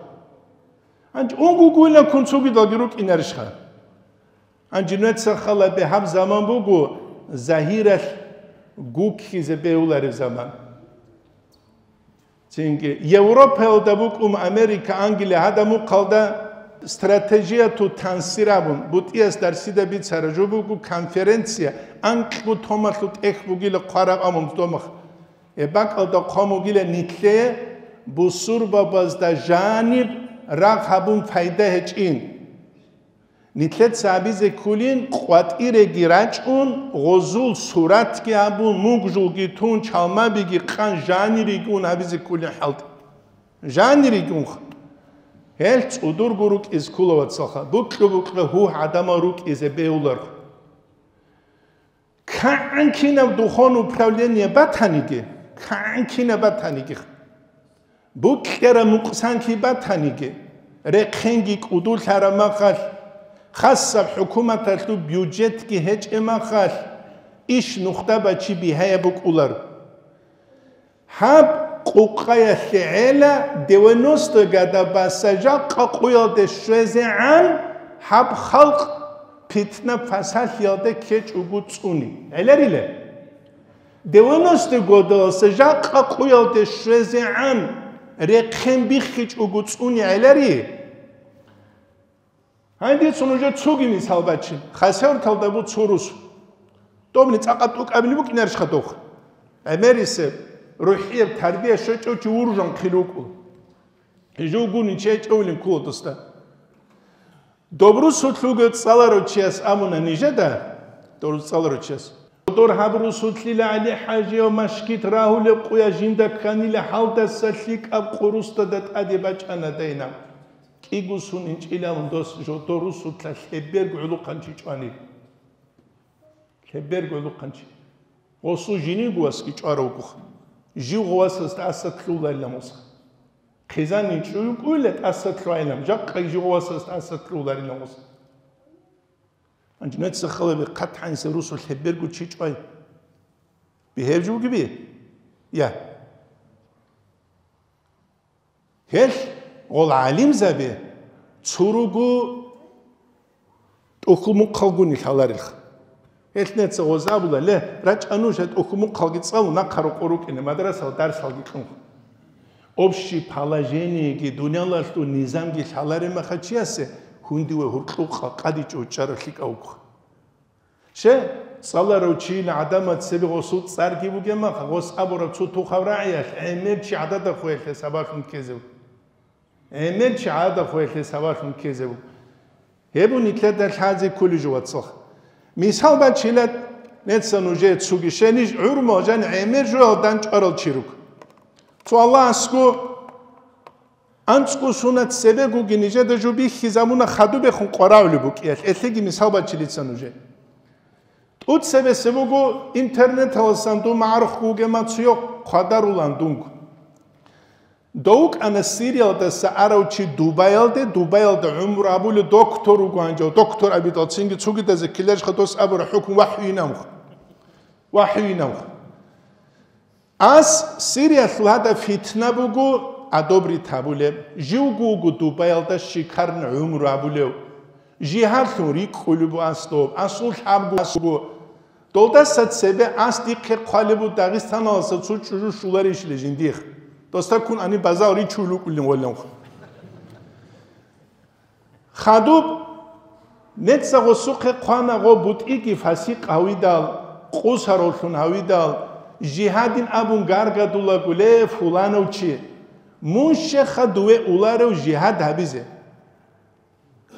Гьанже унгугуйилан кун цогидалги рукӀинарищха? Гьанже нуца хала бегьаб заман буго, загьиралъ гуккизе бегьулареб заман. Цинги Европаялда букӀун, Америка, Англия, гьадамухъалда стратегияту тансир абун, бутӀияс дарсида бицара жо буго конференция, анкьго томалъу тӀех бугила хъвараб амун домах. Гьеб бакӀалда хъван бугила нилъее бусурбабазда жаниб рагъ гьабун пайда гьечӀин. Нилъеца абизе кколин, къватӀиреги рачӀун, гъозул суратги гьабун, мугжулги тун, чалмабиги къан, жанириги ун абизе кколин хӀалтӀи. Жанириги унха. Гьел цӀудурго рукӀиз ккола, вацалха, букьа-букьа гьугь гӀадамал рукӀизе бегьуларха. КигӀан кинаб духовное управление батаниги, кигӀан кинаб батаниги, букьараб мукъсанлъи батаниги, рехъенги кӀудулъараб махалъ, хасаб хӀукуматалъул бюджетги гьечӀеб махалъ, иш нухда бачи бигьаяб букӀулар. Гьаб къукъаялъе гӀела девяносто года баса жакъа къуялде щвезегӀан гьаб халкъ питна-пасалъиялде ккечӀого цӀуни. ГӀеларила? Девяносто годаласа жакъа къуялде щвезегӀан рехъен биххичӀого цӀуни гӀелари? Гьанже дица нужер цоги мисал бачи. Хасавюрталда бу цо рус. Добни цӀакъа тӀукӀабили букӀинарищха дох? ГӀемерисеб, рухӀияб тарбия щвечӀев чи вуржан хъил вукӀу. Гьежув гуни чечӀевлин ккола досда. Доб русулъ вугев цӀаларав чияс абуна нижеда, доб рус цӀаларав чияс. Дор гьаб русулъила ГӀали-ХӀажияв машгит рагьулеб къуя жинда кканила гьалдаса лъикӀаб къурусдада тӀаде бачӀана дайна. КӀиго сун инчӀилавун дос жодо русулъа лъеберго гӀулухъанчи чӀванил. Лъеберго гӀулухъанчи. Гъосул жиниго васги чӀваравгуха. Жив гъовасазда тӀаса лъуларилан гъосха. Хъизанин чӀуюкӀуйла тӀаса лъугьайилан, жакъа жив гъовасазда тӀаса лъуларилан гъосха. Гьанже нуца халаби хъат гьаниса русул лъеберго чи чӀвай. Бигьеб жо бугеби? Я. Гьелъ гъол гӀалимзаби цо руго тӀухьул-мухъалгуни лъаларилха. Гьелъ неца гъоз абула, ле, рачӀа нуж гьа тӀухьул-мухъалги цӀалун, нахъа рокъор рукӀине, мадрасал дарсалги кьун. Общее положениеги дуниялалъул низамги лъалареб мехалъ чиясе гьунди ва гьуркьукъа къадичӀо чӀарав лъикӀав вукха. Че, цӀаларав чийил гӀадамал цебе гъосул цӀарги бугеб мехалъ, гъос абураб цо тухав рагӀиялъ гӀемер чи гӀадада хвелъе сабаблъун ккезе вуго. ГӀемер чи гӀадада хвелъе сабаблъун ккезе вуго. Гьеб нилъеда лъазе кколеб жо, вацал. Мисал бачила, неца нужее цуги щениж гӀурмал жан гӀемер жоялда чӀварал чи руго. Цо Аллагьасго анцӀго сунат цебегоги нижеда жо бихьизабуна хадубехун къварагӀулеб букӀиялъ, гьелъеги мисал бачилица нужее. ТӀуцебесеб буго интернеталасан дун магӀарухъ вугема цуе хъвадарулан дунго. Дов вукӀана Сириялдаса арав чи Дубаялде, Дубаялда гӀумру абулев доктор вуго гьанже, доктор абидал цинги цугидазе ккеларищха дос абураб хӀукму вахӀюйин амха. ВахӀюйин амха. Ас Сириялъул гьадаб фитна буго, одобрить гьабулеб, живго вуго Дубаялда шикарно гӀумру абулев. Жигьарлъун рикӀкӀулеб буго ас доб, асул лъабго ас буго. Долдаса цебе ас дихъе хъвалеб буго Дагъистаналаса цо чӀужу щуларищали жиндихъ. Досда ккун ани базал ричул рукӀулин гъолланха. Хадуб, нецаго сухъе хъвана гъо бутӀиги фасикъ гьавидал, къусаровлъун гьавидал, жигьадин абун гаргадулаго, ле, фуланав чи, мун щеха дуве уларев жигьад гьабизе?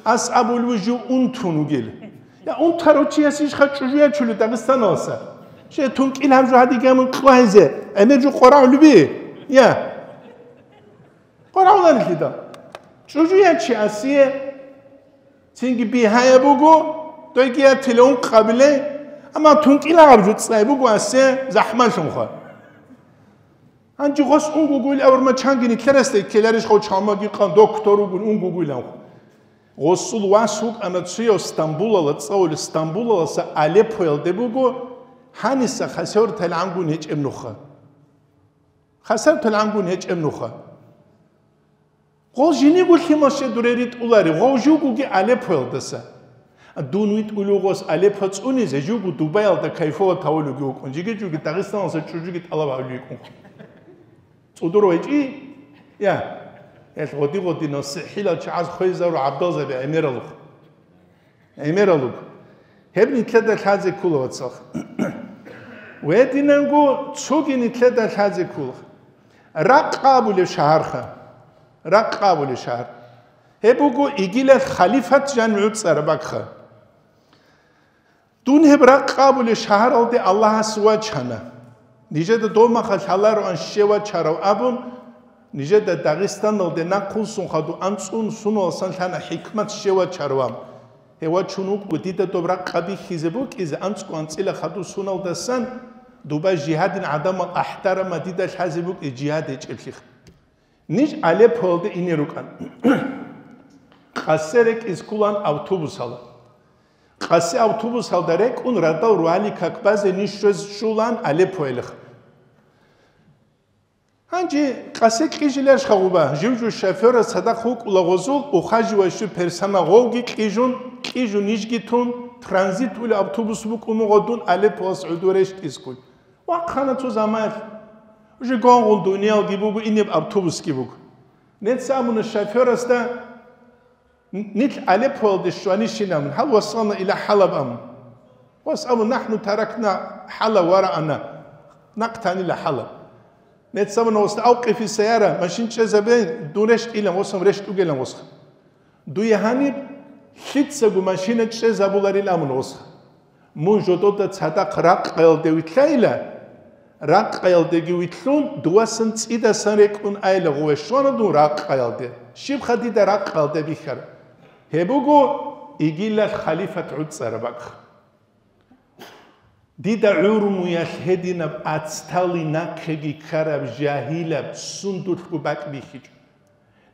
Ас абулев жив унтун вугел. Я, унтарав чияс ишха чӀужу ячулев Дагъистаналаса? Че тункӀил гьаб жо гьадигамун кьвагьизе, гӀемер жо къварагӀулеби? Я. КъварагӀуларелъидал. ЧӀужу ячи асие, цинги бигьаяб буго, дойги ятиле ункъабилей, амма тункӀил гьаб жо цӀай буго асие захӀмалъунха. Гьанже гъос унгугуил авурмачанги нилъерасда ккеларищ гъов чалмаги къан доктор вугун унгугуиланха. Гъосул вас вукӀана цуяв Стамбулала цӀалулев, Стамбулаласа Алеппоялде буго, гьаниса хасавар талгӀангун гьечӀеб нуха. Хасавар талгӀангун гьечӀеб нуха. Гъол жиниго лъимал щай дуре ритӀулари, гъов жугуги Алеппоялдаса. Дун витӀулев гъос Алеппо цӀунизе, жугу Дубаялда кайфула тавулевги вукӀун, жиги-жуги Дагъистаналаса чӀужуги тӀалаб гьавулев йикӀун. ЦӀудур вайчӀи? Я. Гьел гъоди-гъодинал сихӀилал чагӀаз хвезару гӀабдалзаби гӀемералухъ. ГӀемералуг. Гьеб нилъеда лъазе ккола, вацал. Гьединанго цоги нилъеда лъазе ккола. Ракъа абулеб шагьарха. Ракъа абулеб шагьар. Гьеб буго игилал халифат жан гӀуцӀараб бакха. Дун гьеб Ракъа абулеб шагьаралде Аллагьас вачана. Нижеда дов махалъ гьалароан щив вачарав абун, нижеда Дагъистаналде нахъвуссун хадув анцӀун суналасан лъана хӀикмат щив вачарав абун. Гьев вачун вукӀго дида доб Ракъа бихьизе букӀизе, анцӀго анцӀила хадув суналдасан, дуба жигьадин гӀадамал ахӀдарамал дида лъазе букӀи жигьад гьечӀеблъи. Ниж Алеппоялде ине рукӀан. Къасе рекӀиз ккулан автобусала. Къасе автобусалда рекӀун радал ругьали как базе ниж щвез щулан Алеппоялихъ. Гьанже къасе кьижила шагъуба, жив-жив шофёрас цадахъ вукӀула гъозул ухаживающий персонал гъовги кьижун, кьижун нижги тун, транзит ули автобус букӀун гъодун Алеппоялас гӀодов рещтӀизккун. Вахъана цо замаялъ. Уже гонгъун дуниялги буго, инеб автобусги буго. Нецц абуна шофёрасда, н-, нилъ Алеппоялде щванищин абун, гьал васална иля ХӀалаб абун. Вас абун, нахӀну таракна ХӀалаб ва раана, нахъ танила ХӀалаб. Нецц абуна, вас, авкъифи сайяра, машин чӀезабе, дун рещтӀилан, васам рещтӀугелан, васха. Дуе гьаниб лъицаго машина чӀезабуларил абун гъосха. Мун жодода цадахъ Ракъаялде вилълъайила, Ракъаялдеги вилълъун, дувасан цӀидасан рекӀун айила гъуве щвана дун Ракъаялде. Щибха дида Ракъаялде бихьараб? Гьеб буго игилал халифат гӀуцӀараб бакӀ. Дида гӀурмуялъ гьединаб ацтали нахъеги ккараб жагьилаб сундулъго бакӀ бихьичӀо.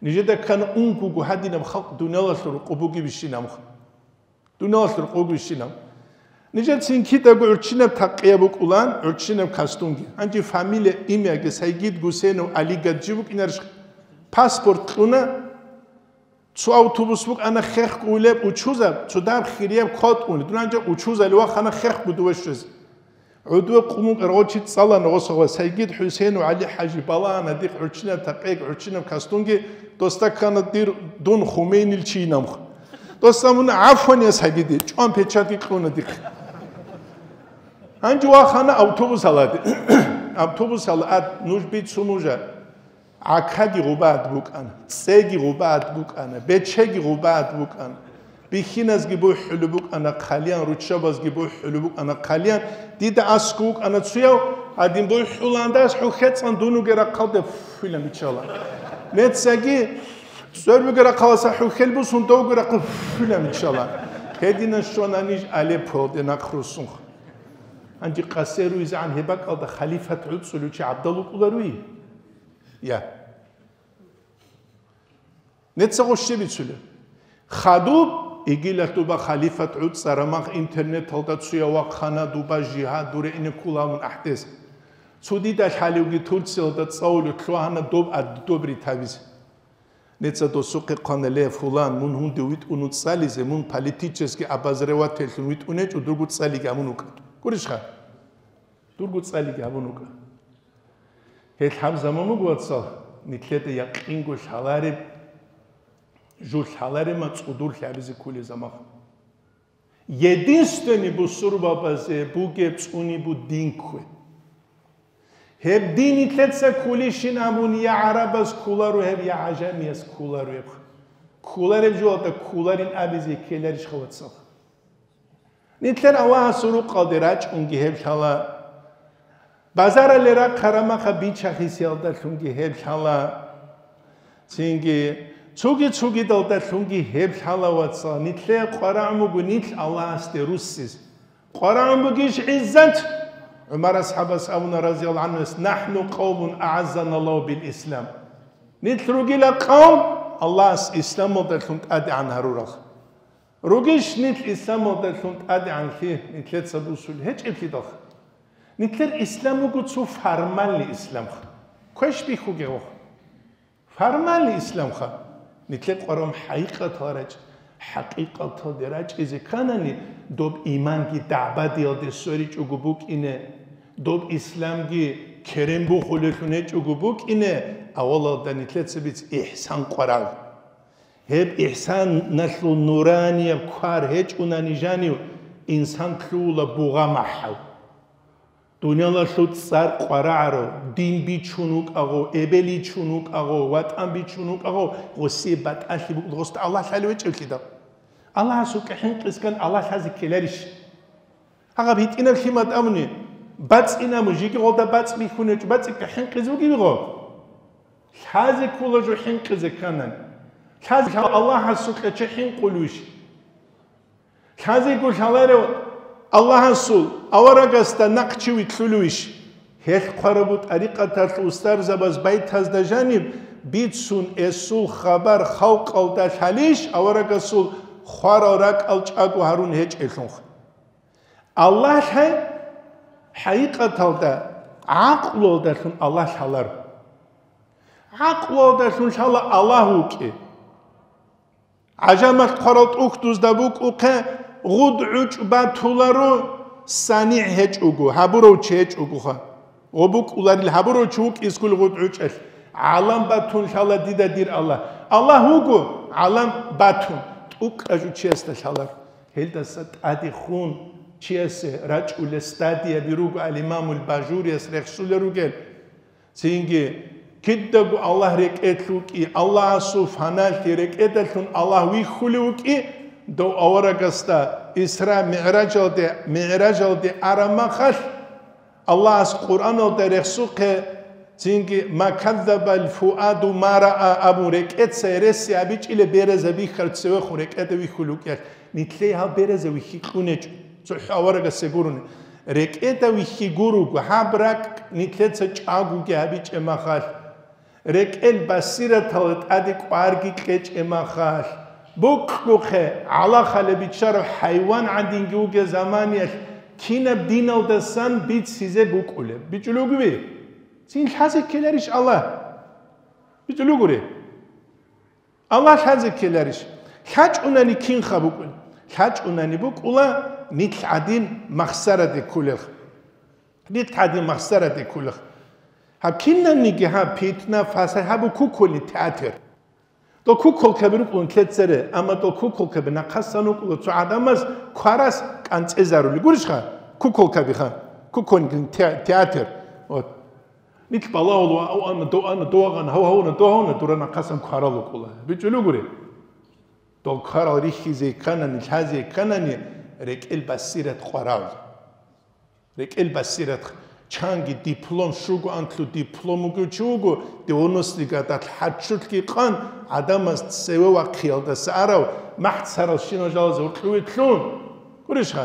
Нижеда ккана унгуго гьадинаб халкъ дуниялалъул рукъу бугебищинаб? Дуниялалъул рукъу бугебищинаб? Нижецин кидаго гӀурччинаб такъияб букӀулан, гӀурччинаб костюмги. Гьанже фамилия, имяги Сайгид Гусейнов Алигад жи букӀинарищ? Паспорт кьуна, цо автобус букӀана хехго уйлеб учузаб, цо даб хирияб кватӀун, дунанча учузали вахана хехго дуве щвезе. ГӀудве къумукъ рогъочи цӀалана гъосагъва Сайгид ХӀусейнов ГӀали ХӀажи балагьана дихъ гӀурччинаб такъек, гӀурччинаб костюмги, досда ккана дир дун Хумейнил чийнамха. Досда мун гӀафван я Сайгиди, чӀван печатги кьуна дихъ. Гьанже вахана автобусаладе. Автобусала ад, нуж бицун нужа. ГӀакаги гъубад букӀана, цӀеги гъубад букӀана, бечеги гъубад букӀана, бихьиназги бухӀулеб букӀана хъалиян, руччабазги бухӀулеб букӀана хъалиян, дида аскӀов вукӀана цуяв, гьадин бухӀуландас хӀухьецӀан дун вугеб рахъалде фуффилан биччала. Нецаги цӀорбиги рахъаласа хӀухьел бусун довги рахъал фуффилан биччала. Гьединан щвана ниж Алеппоялде нахъ руссунха. Гьанже къасе руйзегӀан гьеб бакӀалда халифат гӀуцӀулев чи гӀабдал вукӀуларуй? Я. Нецаго щиб бицулеб? Хадуб, игила дуба халифат гӀуцӀарамах интернеталда цуя вахъана дуба жигьад дуре ине ккуламун ахӀдес. Цо дида лъалевги Турциялда цӀалулев лъугьана доб ад-, доб ритабизе. Неца досухъе хъвана, ле, фулан, мун гьунде витӀун цӀализе, мун политический обозревательлъун витӀун гьечӀо, дурго цӀалиги гьабун вукӀа. Гурищха? Дурго цӀалиги гьабун вукӀа. Гьел гьаб заман буго, вацал, нилъеда якъинго лъалареб, жо лъаларема цӀудур лъабизе кколеб заман. Единственный бусурбабазе бугеб цӀуни бу дин ккве. Гьеб дин нилъеца кколищин абун, я гӀарабаз кколаро гьеб, я гӀажамияз кколаро гьеб. Кколареб жоялда кколарин абизе ккеларищха, вацал? Нилъер Аллагьасул рукъалде рачӀунги гьеб лъала, базаралде рахъараб мехалъ бича-хисиялдалъунги гьеб лъала, цинги цуги-цугидалдалъунги гьеб лъала, вацал. Нилъее къварагӀун буго нилъ Аллагьасде руссиз. КъварагӀун бугищ гӀиззат? ГӀумар асхӀабас абуна, разияллагьу гӀанхуяс: «НахӀну къавмун агӀаззаналлагьу бил ислам». Нилъ ругила къавм, Аллагьас исламалдалъун тӀадегӀан гьарурал. Ругищ нилъ исламалдалъун тӀадегӀанлъи нилъеца бусулеб? ГьечӀеблъидалха. Нилъер ислам буго цо формальный исламха. Квеш бихьуге гъох. Формальный исламха. Нилъер къварагӀун хӀакъикъатал рачӀ-, хӀакъикъаталде рачӀизе кканани, доб иманги дагӀбадиялде сверичӀого букӀине, доб исламги керен бухулелъун гьечӀого букӀине, авалалда нилъеца биц ихсан къварагӀ. Гьеб ихсаналъул нуранияб квар гьечӀунани жанив, инсан лъугьула бугъа махӀал. Дуниялалъул цӀар къварагӀарав, дин бичун вукӀагъо, эбел ичун вукӀагъо, ватӀан бичун вукӀагъо, гъосие батӀалъи букӀун, гъосда Аллагь лъалев гьечӀеблъидал. Аллагьасукьа хӀинкъискан Аллагь лъазе ккеларищ? Гьагъаб гьитӀинаб лъимат абуни, бацӀцӀинаб жиги гъолда бацӀцӀи бихьун гьечӀо, бацӀцӀикьа хӀинкъизе бугеб гъо? Лъазе ккола жо хӀинкъизе кканани. Лъазе Аллагьасукьа чи хӀинкъулевищ? Лъазего лъаларев Аллагьасул аварагасда нахъчи вилълъулевищ? Гьелъ хъварабу тӀарикъаталъ устарзабаз байтазда жаниб бицун эсул хабар халкъалда лъалищ, аварагасул хварал ракӀал чӀаго гьарун гьечӀелъунха? Аллагь лъай, хӀакъикъаталда гӀакълуялдалъун Аллагь лъаларо. ГӀакълуялдалъун лъала Аллагь вукӀи. ГӀажамалъ хъварал тӀухьдузда букӀухъе, гъуд гӀучӀ батуларо, санигӀ гьечӀого, гьабурав чи гьечӀогоха. Гъо букӀуларил гьабурав чи вукӀискул гъуд гӀучӀалъ. ГӀалам батун лъала дида дир Аллагь. Аллагь вуго, гӀалам батун, тӀукӀа жучиясда лъалар. Гьелдаса тӀаде хун чиясе рачӀулел стадияби руго, ал-Имамул Бажурияс рехсулел ругел. Цинги, кидаго Аллагь рекӀелъ вукӀи, Аллагьасул фаналъи рекӀедалъун Аллагь вихьулев вукӀи, дов аварагасда Исра мигӀражалде, мигӀражалде араб махалъ, Аллагьас Къуръаналда рехсухъе, цинги, «Ма каззабал фуаду ма раа» абун, рекӀеца гьереси абичӀила бераза бихьар цевехун рекӀеда вихьулев вукӀиялъ, нилъее гьал бераза вихьи кьунечӀо, цохӀо аварагасе гурони. РекӀеда вихьи гуруго, гьаб ракӀ нилъеца чӀагоги гьабичӀеб махалъ, рекӀел басираталда тӀаде кӀварги кьечӀеб махалъ, букьухъе, гӀалахалеб биччараб хӀайван гӀадинги вугеб заманиялъ кинаб диналдасан бицизе букӀулеб? БичӀулев вугеби? Цин лъазе ккеларищ Аллагь? БичӀулев вугури? Аллагь лъазе ккеларищ? ЛъачӀунани кинха букӀун? ЛъачӀунани букӀула нилъ гӀадин махсараде кколелха. Нилъ гӀадин махсараде кколелха. Гьаб кинабниги гьаб питна, фасад гьабу куколи театр. Дол куколкаби рукӀун лъецаре, амма дол куколкаби нахъасан вукӀула цо гӀадамаз кварас кӀанцӀезарули. Гурищха? Куколкабиха. Куколкин те-, театр. Вот. Нилъ балагьула, ва-, ав ана, дов ана, дов агъана, гьав гьавуна, дов гьавуна, дура нахъасан кварал вукӀула. БичӀулев гури? Дол кварал рихьизе кканани, лъазе кканани, рекӀел басират къварал. РекӀел басират, чанги диплом, щуго анлъу диплом вугев чи вуго, девяностый годалъ хӀаччулъги къан, гӀадамаз цеве вахъиялдаса арав, махӀ царал щинал жалазе гьоркьове лъун. Гурищха?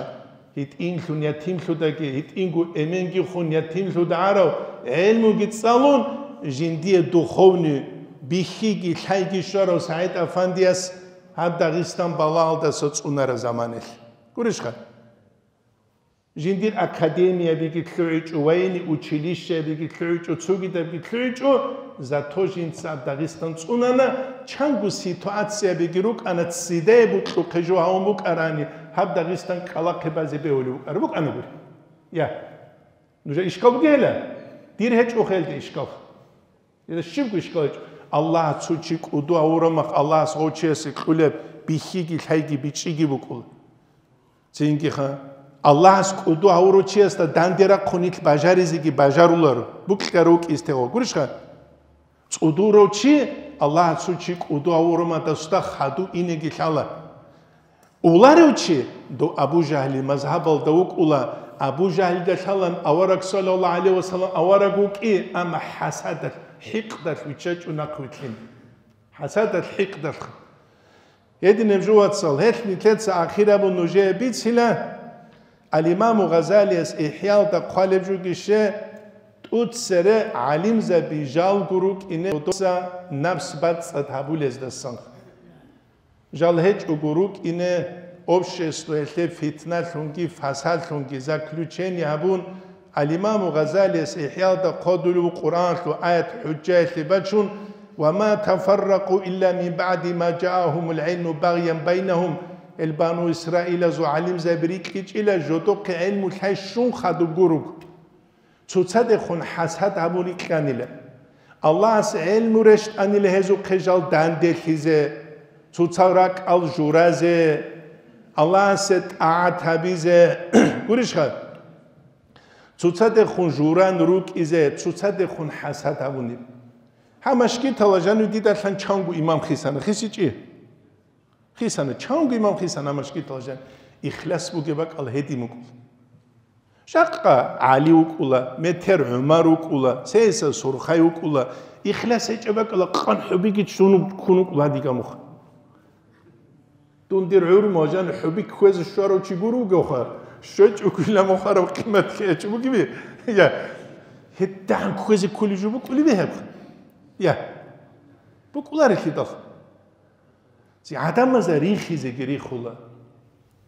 ГьитӀинлъун ятимлъудаги, гьитӀинго эменги хун ятимлъуда арав, гӀелмуги цӀалун, жиндие духовный бихьиги лъайги щварав СагӀид Афандияс гьаб Дагъистан балагьалдаса цӀунараб заманалъ. Гурищха? Жиндир академиябиги лъугӀичӀо, военный училищеябиги лъугӀичӀо, цогидабги лъугӀичӀо, зато жинца Дагъистан цӀунана, чанго ситуациябиги рукӀана, ццидае букьухъе жо гьавун букӀарани, гьаб Дагъистан кӀкӀалахъе базе бегьулев вукӀараб букӀанагури. Я. Нужер ишкал бугела? Дир гьечӀо хелде ишкал. Гьелда щибго ишкал гьечӀо. Аллагь цо чи кӀуду гьавураб мах, Аллагьас гъов чиясе кьулеб бихьиги лъайги бичӀчӀиги букӀула. Цинги ха, Аллагьас кӀуду гьавурав чиясда данде рахъун нилъ бажаризеги бажаруларо, букьарав вукӀизе тегъо. Гурищха? ЦӀудурав чи, Аллагьас цо чи кӀуду гьавураб мах, дасда хадув инеги лъала. Уларев чи, дов Абу Жагьли мазгьабалда вукӀула, Абу Жагьлида лъалан авараг, саллаллагьу гӀалайгьи ва саллам, авараг вукӀи, амма хӀасадалъ, хӀикъдалъ виччачӀо нахъ вилълъин. ХӀасадалъ, хӀикъдалъ. Гьединаб жо, вацал, гьелъ нилъеца ахир абун нужее бицила, Ал-Имаму Гъазалияс ИхӀялда хъвалеб жугище, тӀуцере гӀалимзаби жалго рукӀине, додоса напс бацӀцӀад гьабулездасан. Жал гьечӀого рукӀине, обществоялъе фитналъунги фасадлъунги заключение гьабун, Ал-Имаму Гъазалияс ИхӀялда хъодулев Къуръаналъул аят хӀужжаялъе бачун: «Ва ма тафарракъу илла мин баъди ма жаагьумул гӀилму багъян байнагьум», ил Бану Исраилазул гӀалимзаби рикӀкӀичӀила жодохъе гӀилму лъай щун хадуб гуруг. Цоцадехун хӀасад гьабун рикьанила. Аллагьас гӀелму рещтӀанила гьезухъе жал данделъизе, цоцал ракӀал журазе, Аллагьасе тӀагӀат гьабизе. Гурищха? Цоцадехун журан рукӀизе, цоцадехун хӀасад гьабунеб. Гьа, машгитала жанив дидалъан чанго имам хисана, хисичӀи? Хисана, чанго имам хисана машгитала жан. Ихлас бугеб бакӀал гьедин букӀула. Жакъа ГӀали вукӀула, метер ГӀумар вукӀула, цеса Сурхай вукӀула, ихлас гьечӀеб бакӀала къан хӀубиги чун ккун вукӀула гьадигамуха. Дун дир гӀурму жан хӀуби кквезе щварав чи гур вугевха, щвечӀо кквила мухъарав къимат лъечӀо бугеби? Я, гьедагӀан кквезе кколев жо букӀулеб гьеб? Я, букӀуларелъидал. Ци гӀадамазда рихизеги рихула.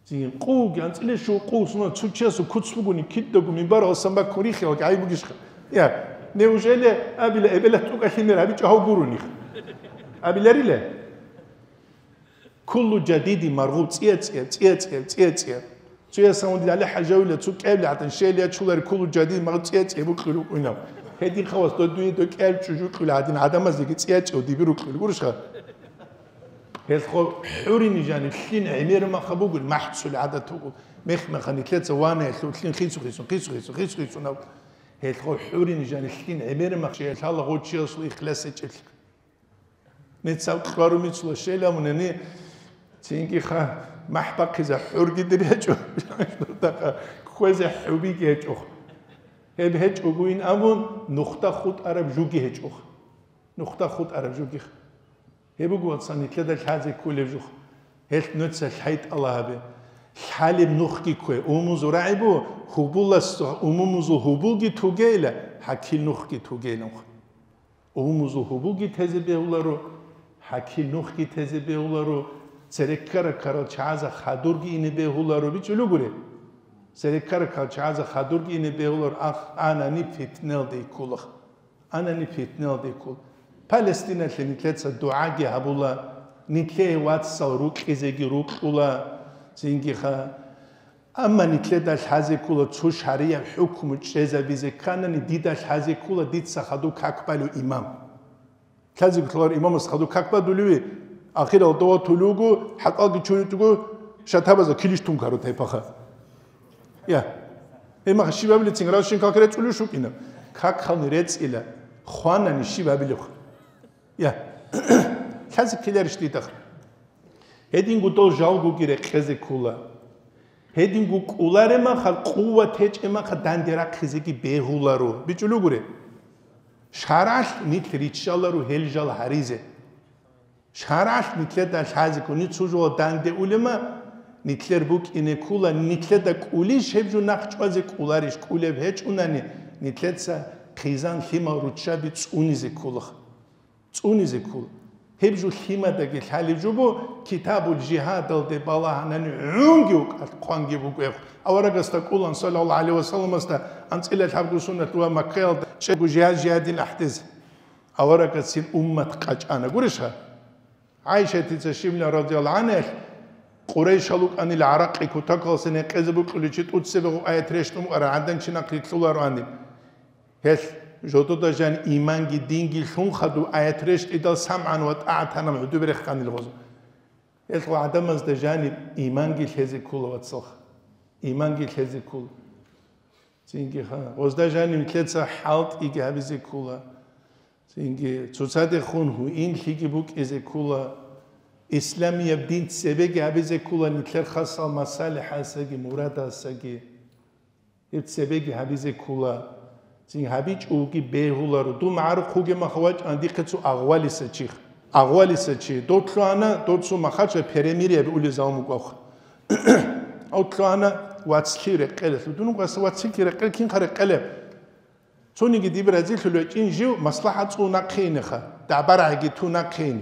Ци къуги анцӀила щуго къу сунал цо чиясул куц бугони, кидаго минбаралъан баккун рихиялги гӀайиб бугищха? Я, неужели абила эбелалъ тӀокӀалъи мер гьабичӀо гьав гурони? Абиларила? Куллу жадиди маргъуб, цӀия-цӀия, цӀия-цӀия, цӀия-цӀия. Цоясан гьундул гьале хӀажавила, цо кӀевли гӀадин, щел ячулари куллу жадид магъ цӀе-цӀе букьулев вукӀунав. Гьедин хавас додуе до кӀел чӀужу кьули гьадин, гӀадамаздеги цӀе-цӀев диби рукьулев гурищха? Гьелхо хӀурин жаниб лъин гӀемер маха бугел, махӀцули гӀадат бугел. Мех-меха нилъеца ванаялъул лъин хицу-хицун, хицу-хицун, хицу-хицун гьав. Гьелхо хӀурин жаниб лъин гӀемер мах, лъала гъочиясул ихлас гьечӀелъ. Мецав кьвару мицула щейла мунени, цинги ха махӀ бахъизе хӀурги дир гьечӀо, кквезе хӀубиги гьечӀо. Гьеб гьечӀогойин абун, нухда хутӀараб жуги гьечӀо. Нухда хутӀараб жуги. Гьеб буго, вацан, нилъеда лъазе кколеб жух. Гьелъ нуца лъайтӀала гьабе. Лъалеб нухги ккве. Умумузул рагӀи бу, гьубулас, умумузул гьубулги тугейла, хӀакил нухги тугейла. Умумузул гьубулги тезе бегьуларо, хӀакил нухги тезе бегьуларо, цереккара-карал чагӀаза хадурги ине бегьуларо, бичӀчӀулугури. Цереккара-карал чагӀаза хадурги ине бегьуларо, ах, анани питналде ккула. Анани питналде ккула. Палестиналъе нилъеца дугӀаги гьабула, нилъее вацал рукьизеги рукьула, цинги ха. Амма нилъеда лъазе ккола цо шаригӀат хӀукму чӀезабизе кканани, дида лъазе ккола дица хадуб как балев имам. Лъазе кколаро имамас хадуб как бадулеви, ахирал дова тулугу, хӀатӀалги чуритӀугу, шатабаза килищ тункаро тайпаха. Я. Имаха щибабилицин равшин как рецӀулев шукӀина. Как хални рецӀила, хванани щибабилев. Я. Лъазе ккеларищ дидахъ? Гьединго дол жалгоги рекъезе ккула. Гьединго кӀуларемаха, къуват гьечӀемаха данде рахъизеги бегьуларо. БичӀулугури. ШаргӀалъ нилъ риччаларо гьел жал гьаризе. ШаргӀалъ нилъеда лъазе ккуни цо жо данде улема, нилъер букӀине ккула, нилъеда кӀулищ гьеб жо нахъ чӀвазе кӀуларищ, кӀулеб гьечӀунани, нилъеца хъизан лъимал руччаби цӀунизе ккула. ЦӀунизе ккула. Гьеб жо лъимадаги лъалеб жо бу, китабул жигьадалде балагьанани гӀунги вукӀалъ хъванги бугеб. Аварагасда кӀулан, саллаллагьу гӀалайгьи ва салламасда, анцӀила лъабго суннат ва Маккаялда чӀего жигьад-жигьадин ахӀдезе. Аварагасин уммат къачӀана. Гурищха? ГӀайшатица щибла радияллагьу гӀангьалъ, Къурайшал вукӀанил гӀаракъи кутакалъе гьекъезе букьуличи тӀуцебегъу аят рещтӀун букӀараб гӀадан чи нахърилълъулароаниб. Гьелъ Жодода жан иманги динги лъун хадуб аят рещтӀидал самгӀан ва тӀагӀатанаб гӀодобе реханил гъоз. Гьелъ гъо гӀадамазда жаниб иманги лъезе ккола, вацалха. Иманги лъезе ккола. Цинги ха, гъозда жаниб нилъеца хӀалтӀиги гьабизе ккола. Цинги цоцадехун гьуинлъиги букӀизе ккола. Исламияб дин цебеги гьабизе ккола, нилъер хасал масалихӀасаги, мурадасаги. Гьеб цебеги гьабизе ккола. Цин гьабичӀоги бегьуларо. Дун магӀарухъ вугеб маха вачӀана дихъе цо агъвалиса чи. Агъвалиса чи. Дов лъугьана, дов цо махача перемирие абиулел залму кӀвахъ. Гьав лъугьана вацлъи рекъелалъу. Дун вацлъи рекъел, кинха рекъелеб? Цониги диб разилъулев гьечӀин жив маслахӀат цӀун нахъейинеха, дагӀбарагӀиги тун нахъейин.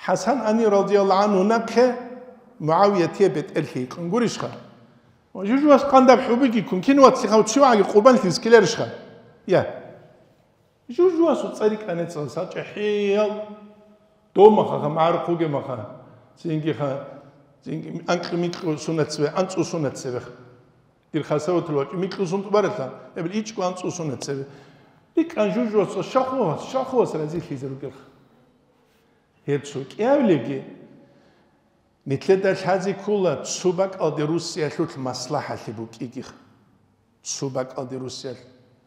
ХӀасан ани радияллагьу гӀанху нахъе МугӀавиятие бетӀерлъи йикьун гурищха? Жужуас къандаб хӀубиги ккун, кин вацлъихъав цевагӀаги къурбанлъи скеларищха? Я. Жужуасул цӀари кӀанецал сачӀа хӀиял. Домахаха, магӀарухъ вугемаха, цинги ха, цинги анкьу-минкьу сунат цебе, анцӀу сунат цебеха. Дир хасаватал вачӀу, микьу сунтӀу баралъа, эбел ичӀго анцӀу сунат цебе. РикӀкӀан жужуас, шахвас, шахвас разилъизе ругелха. Гьеб цо кӀиявлеги, нилъеда лъазе ккола цо бакӀалде Русиялъулъ маслахӀалъи букӀигиха. Цо бакӀалде Русиялъ.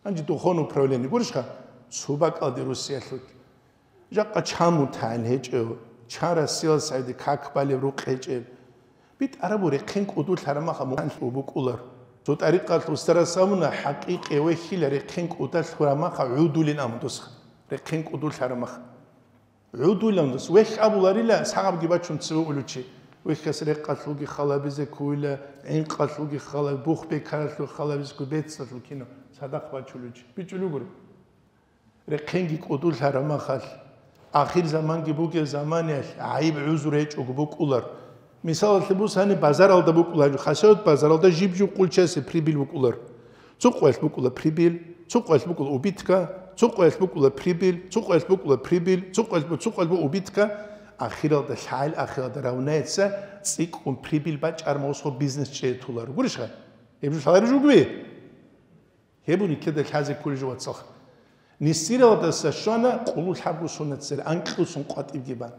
Гьанже духовное управление гурищха? Цо бакӀалде Русиялъулъ. Жакъа чан мутагӀил гьечӀев, чан Россиял сайде как балеб рукъ гьечӀеб. БитӀарабу рехъен кӀудулъ гьарамаха мухӀан букӀулар. Цо тӀарикъалъ устарас абуна, хӀакъикъи вехьила рехъен кӀудалъ гьарамаха гӀудулин абун досха. Рехъен кӀудулъ гьарамаха. ГӀудулан дос. Вехь абуларила, сагъабги бачун цеве улучи. Вехьас рекъалъулги халабизе ккуила, гӀинкъалъулги халаби, бух бекаралъул халабизе кку, бецалъул кино, садахъ бачулучи. БичӀулугури. Рехъенги кӀудулъ гьарамахалъ, ахир заманги бугеб заманиялъ гӀайиб гӀузур гьечӀого букӀулар. Мисалалъе бусани, базаралда букӀулар, хасават базаралда жиб-жиб къулчасе прибил букӀулар. Цо къоялъ букӀула прибил, цо къоялъ букӀула убитка, цо къоялъ букӀула прибил, цо къоялъ букӀула прибил, цо къоялъ бу-, цо къоялъ бу убитка, ахиралда лъагӀел, ахиралда равнается цӀикӀкӀун прибил бачӀар мосхо бизнес чӀетулар. Гурищха? Гьеб жо лъалареб жугби? Гьеб нилъеда лъазе кколеб жо, вацалха. Нисиралдаса щвана къулулъ гьабго сунат цере, анкьусун къватӀибги бан.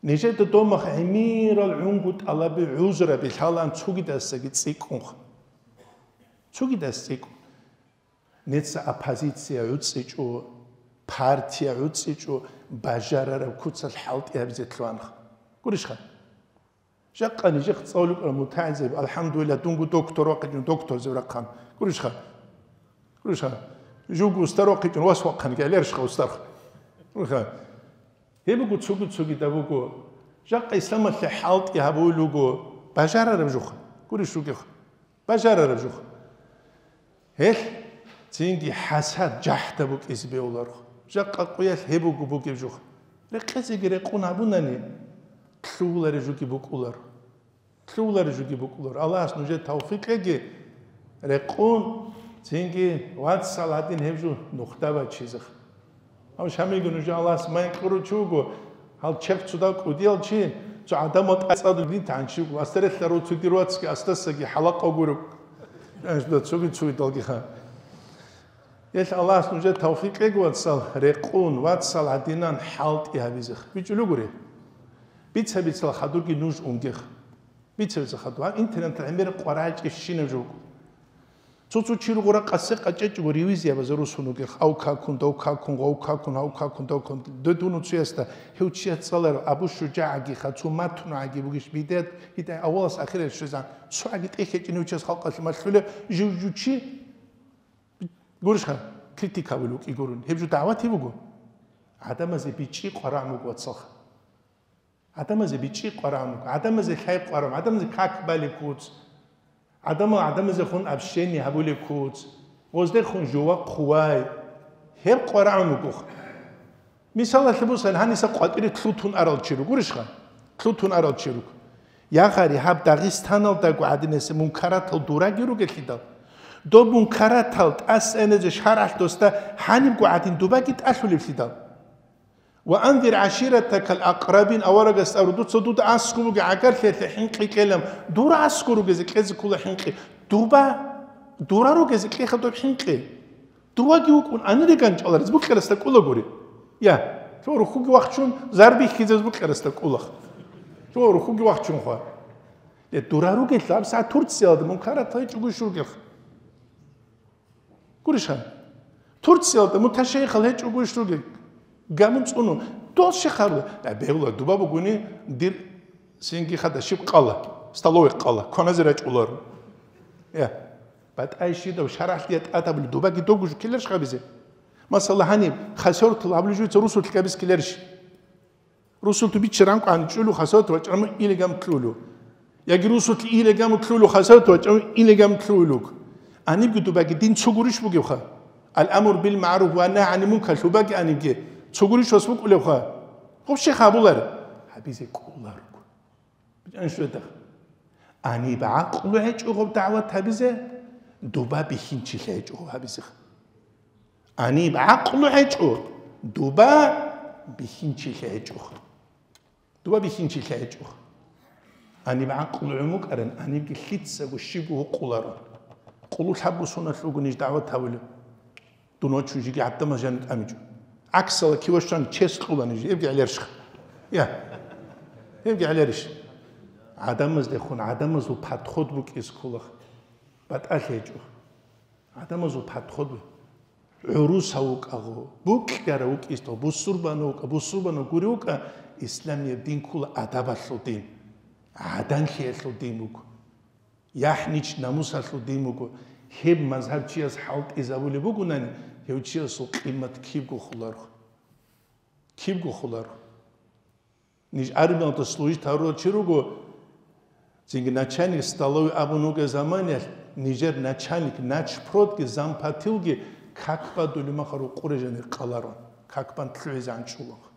Нижеда домах гӀемерал гӀунгу тӀалаби, гӀузраби лъалаан цогидасаги цӀикӀкӀунха. Цогидас цӀикӀкӀун. Неца оппозиция гӀуцӀичӀо, партия гӀуцӀичӀо, бажарараб куцалъ хӀалтӀи гьабизе лъугьанха. Гурищха? Жакъа нижехъ цӀалулъ рукӀарал мутагӀилзаби, алхӀамдулиллагь, дунго доктор вахъичӀун, докторзаб рахъан. Гурищха? Гурищха? Жуго устар вахъичӀун, вас вахъан, гӀеларищха устарха? Гурищха? Гьеб буго цугу-цугида буго. Жакъа исламалъе хӀалтӀи гьабулел руго бажарараб жуха. Гурищ ругеха? Бажарараб жуха. Гьелъ цинги хӀасад, жахӀда букӀизе бегьуларха. Жакъа къуялъ гьеб буго бугеб жуха. Рекъезеги рекъун гьабунани, лъугьулареб жуги букӀулар. Лъугьулареб жуги букӀулар. Аллагьас нужер тавфикъ кьеги, рекъун, цинги вацал гьадин гьеб жо нухда бачизеха. Гьав Шамилги нужер Аллагьас майн кьурав чи вуго, гьал чехъ цо дав кӀудиял чи, цо гӀадамал тӀацӀадул дин тагӀан чи вуго, астарелъа руцуги руацги астасаги хӀалакъа гуреб. Цоги цугидалгиха. Гьелъ Аллагьас нужер тавфикъ кьеги, вацал, рекъун, вацал гьадинан хӀалтӀи гьабизех. БичӀулугури. Бица-бицал хадурги нуж унгех. Бица-бица хадур. Гьаб интернеталъ гӀемер къварагӀичӀебщинаб жо буго. Цо-цо чи руго ракъасе къачӀечӀого ревизия базарусун ругех. Ав какун, дав какун, гъав какун, гьав какун, дав какун. Додуну цуясда, гьев чияс цӀаларав, Абу ШужагӀагиха, цо матнугӀаги бугищ бидет, гьитӀай авалас ахирал щвезан. ЦогӀаги тӀехьечӀин гьев чияс халкъалъе малъулеб, жив-жив чи Гурищха, критика гьабулев вукӀи гурун. Гьеб жо дагӀват гьеб буго. ГӀадамазе бичӀчӀи къварагӀун буго, вацалха. ГӀадамазе бичӀчӀи къварагӀун буго. ГӀадамазе лъай къварагӀун, гӀадамазе как балеб куц. ГӀадамал гӀадамазехун общение гьабулеб куц. Гъоздехун жува хъувай. Гьеб къварагӀун бугоха. Мисалалъе бусани, гьаниса къватӀире лъутун арал чи ругурищха? Лъутун арал чи руго. Я гъари, гьаб Дагъистаналдаго гӀадинасеб мункаратал дураги ругелъидал, доб мункаратал тӀасаназе шаргӀалъ досда гьанибго гӀадин дубаги тӀалъулевлъидал. Ва анзир гӀаширатакал акърабин, аварагас абу, дуца дуда аскӀоб бугеб гӀагарлъиялъе хӀинкъи кьела, дура аскӀор ругезе кьезе ккола хӀинкъи, дуба, дура ругезе кьеха доб хӀинкъи. Дуваги вукӀун, анириган чӀалараз букьарасда кӀулагури. Я, цо рухьуги вахчун, зарбихьизе букьарасда кӀулах. Цо рухьуги вахчун хва. Я, дура ругел, абса Турциялда мункарат гьечӀого иш ругел. Гурищха? Турциялда муташайихал гьечӀого иш ругел. Гамун цӀуну. Дол щихъарла. Я, бегьула, дуба бугуни, дир синги хада щиб къала, столовый къала, коназе рачӀулар. Я. БатӀай щидав шарагӀлъия тӀатабли дубаги догу жукиларш гьабизе? Масала, гьаниб хасертал гьабулеб жуца русулъ гьабиз киларищ? Русулъ бичча ранкъан чӀулу хасерт вачӀараму илигам кьулу. Яги русулъ илигам кьулу хасерт вачӀараму илигам кьулуг. Анибги дубаги дин цо гурищ бугевха? Ал-амру бил маъруф ва нагь гӀанил мункар лъубаги анибги цо гурищ вас букӀулевха? Гъуб щихъ гьабулар. Гьабизе кӀуларго. БичӀан щведах. Аниб гӀакълу гьечӀо гъаб дагӀват гьабизе, дуба бихьинчилъи гьечӀо гъаб гьабизеха. Аниб гӀакълу гьечӀо, дуба бихьинчилъи гьечӀоха. Дуба бихьинчилъи гьечӀоха. Аниб гӀакълу гӀумукӀаран, анибги лъицаго щибго гьукъуларо. Къулу лъабго соналъ вуго ниж дагӀват гьавулев. Дун вачун жиги гӀадамаз жанив тӀамичӀо. ГӀаксала кивашан чес кьула ниж, гьебги гӀелерщха. Я. Гьебги гӀелерищ. ГӀадамаздехун, гӀадамазул подход букӀиз ккола. БатӀалъи гьечӀо. ГӀадамазул подход бу-, гӀурусав вукӀагъо, букьарав вукӀистав, бусурбанав вукӀа, бусурбанав гури вукӀа, исламияб дин ккола адабалъул дин. ГӀаданлъиялъул дин буго. ЯхӀнич намусалъул дин буго. Гьеб мазгьаб чияс хӀалтӀизабулеб бугунани, гьев чиясул къимат кибго хуларо. Кибго хуларо. Ниж армиялда служить гьарурал чи руго, цинги начальник столовой абун вугеб заманиялъ, нижер начальник, начпродги, зампотилги как бадулеб махал рукъуре жанир къаларун, как бан лъугӀизе анчӀулаха.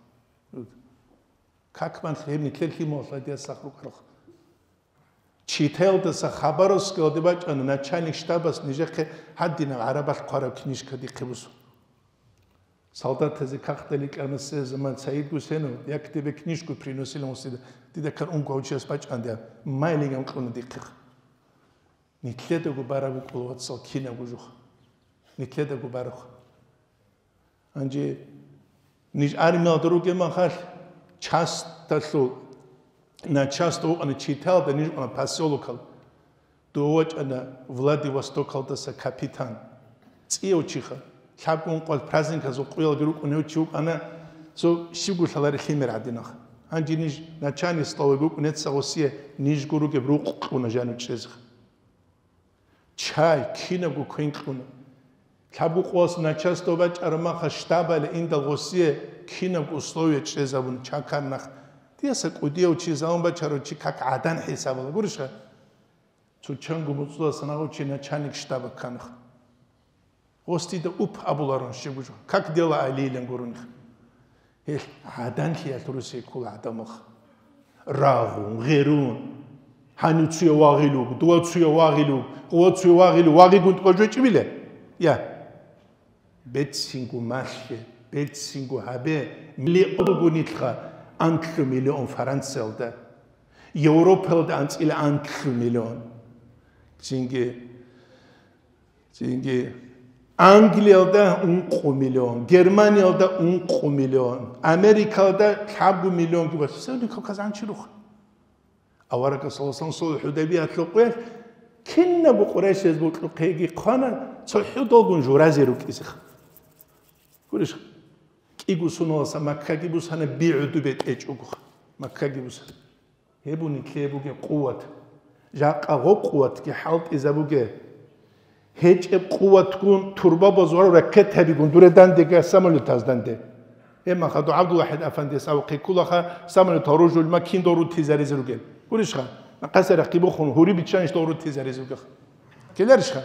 Как бан лъугӀеб нилъер лъималалъ гьадияс сах рукӀарха. Читаялдаса Хабаровскалде бачӀана начальник штабас нижехъе гьадинаб гӀарабалъ хъвараб книжка дихъе бусун. Солдатазе кагътали кӀамасеб заман Саид Гусейнов: «Я к тебе книжку приносил», дида, дида ккан унго гьав чияс бачӀана дида, майлиган кьуна дихъе. Нилъедаго бараб букӀула, вацал, кинабго жух. Нилъедаго бараб. Гьанже ниж армиялда ругеб махалъ, часталъул, на част вукъана читалда, ниж вукъана поселокал. Дов вачӀана Владивостокалдаса капитан. ЦӀияв чиха. Лъабго ункъоялъ праздниказул къуялги рукӀун гьев чи вукӀана, цо щибго лъаларе лъимер гӀадинах. Гьанже ниж начальник столовой букӀунеца гъосие нижго ругеб рукъ кьуна жанив чӀезеха. Чай, кинабго квен кьуна. Лъабго къоялъ начальство бачӀараб махалъ штабале индал гъосие кинабго условие чӀезабуна, чакар нах. Дияса кӀудияв чи, залун бачарав чи как гӀадан хӀисабала. Гурищха? Цо чанго муцӀуласан гьав чи начальник штаба кканах. Гъос дида уп абуларун щибго жо. Как дела алилан гуроних. Гьел гӀаданлъиялъ русей ккола гӀадамах. Рагъун, гъерун. Гьанив цуя вагъилуг, дова цуя вагъилуг, гъова цуя вагъилуг, вагъигун тӀубажвечӀибила? Я. Бецинго малъе, бецинго гьабе, миллион буго нилъха, анлъу миллион Франциялда, Европаялда анцӀила анлъу миллион. Цинги Цинги Англиялда ункъо миллион, Германиялда ункъо миллион, Америкалда лъабго миллионги бачӀ. Севни Кавказ анчи рух. Аварагас саллаллаху алейхи ва саллям Худайбиялъул къоялъ кинабго къурайшияз бокьухъеги хъвана, цохӀо долгун журазе рукӀизеха. Гурищ, кӀиго суналаса Маккаги бусана, би гӀуду бетӀечӀого Маккаги бусана. Гьеб буго нилъее бугеб къуват. Жакъа гъо къуватги хӀалтӀизабуге. ГьечӀеб къуватгун турбабаз ва ракетабигун дуре дандега самолетаз данде. Гьеб махадо ГӀабдулвахӀид афандияс абухъе кколаха, самолет гьоружулма кин дов рутизаризе ругел. Гурищха, къасарахъги бухун, гьури биччанищ дов рутизаризе ругеха. Ккеларищха?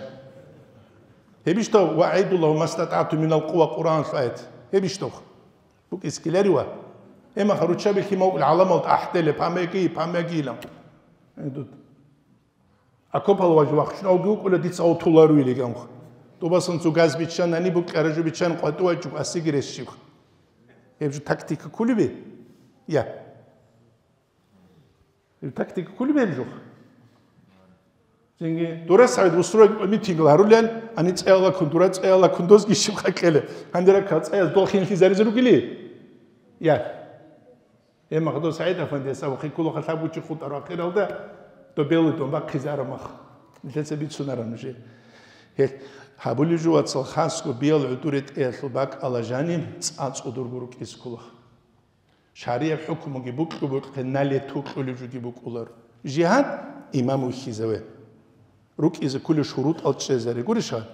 Гьебищ дов: «Ва аидуллагьу мастатӀату минал къува» Къуръаналъул аят. Гьебищ дов? БукӀискиларива? Гьемаха руччаби лъимал гӀаламалда ахӀдели, памяги, памягилан. Гьедуд. Окопал важ вахчун авги вукӀула, дица гъов туларуили ганха. Тубасан цо газ биччан, гьаниб букӀаражу биччан, къватӀу вачӀу, асиги ресчиб. Гьеб жо тактика кулиби? Я. Гьеб тактика кулиби гьеб жо? Цинги дура СагӀид бусурбаб митингал гьарулел, ани цӀеялаккун, дура цӀеялаккун дозги щибха кьела. Гьаниракал цӀаяз дол хинлъизаризе ругели? Я. Гьеб мах дов СагӀид афандияс абухъе кколаха лъабго чи хутӀараб ахиралда, дов белый дом бахъизе араб мах. Нилъеца бицунараб нужее. Гьел гьабулеб жо, вацал, хасго биял гӀодор ретӀеялъул бакӀалда жаниб цӀа цӀодорго рукӀизе кколаха. ШаригӀаб хӀукмуги букьу-букье, налету кьолеб жоги букӀунаро. Жигьад, имам вихьизаве. РукӀизе кколел шурутӀал чӀезаре гурищха?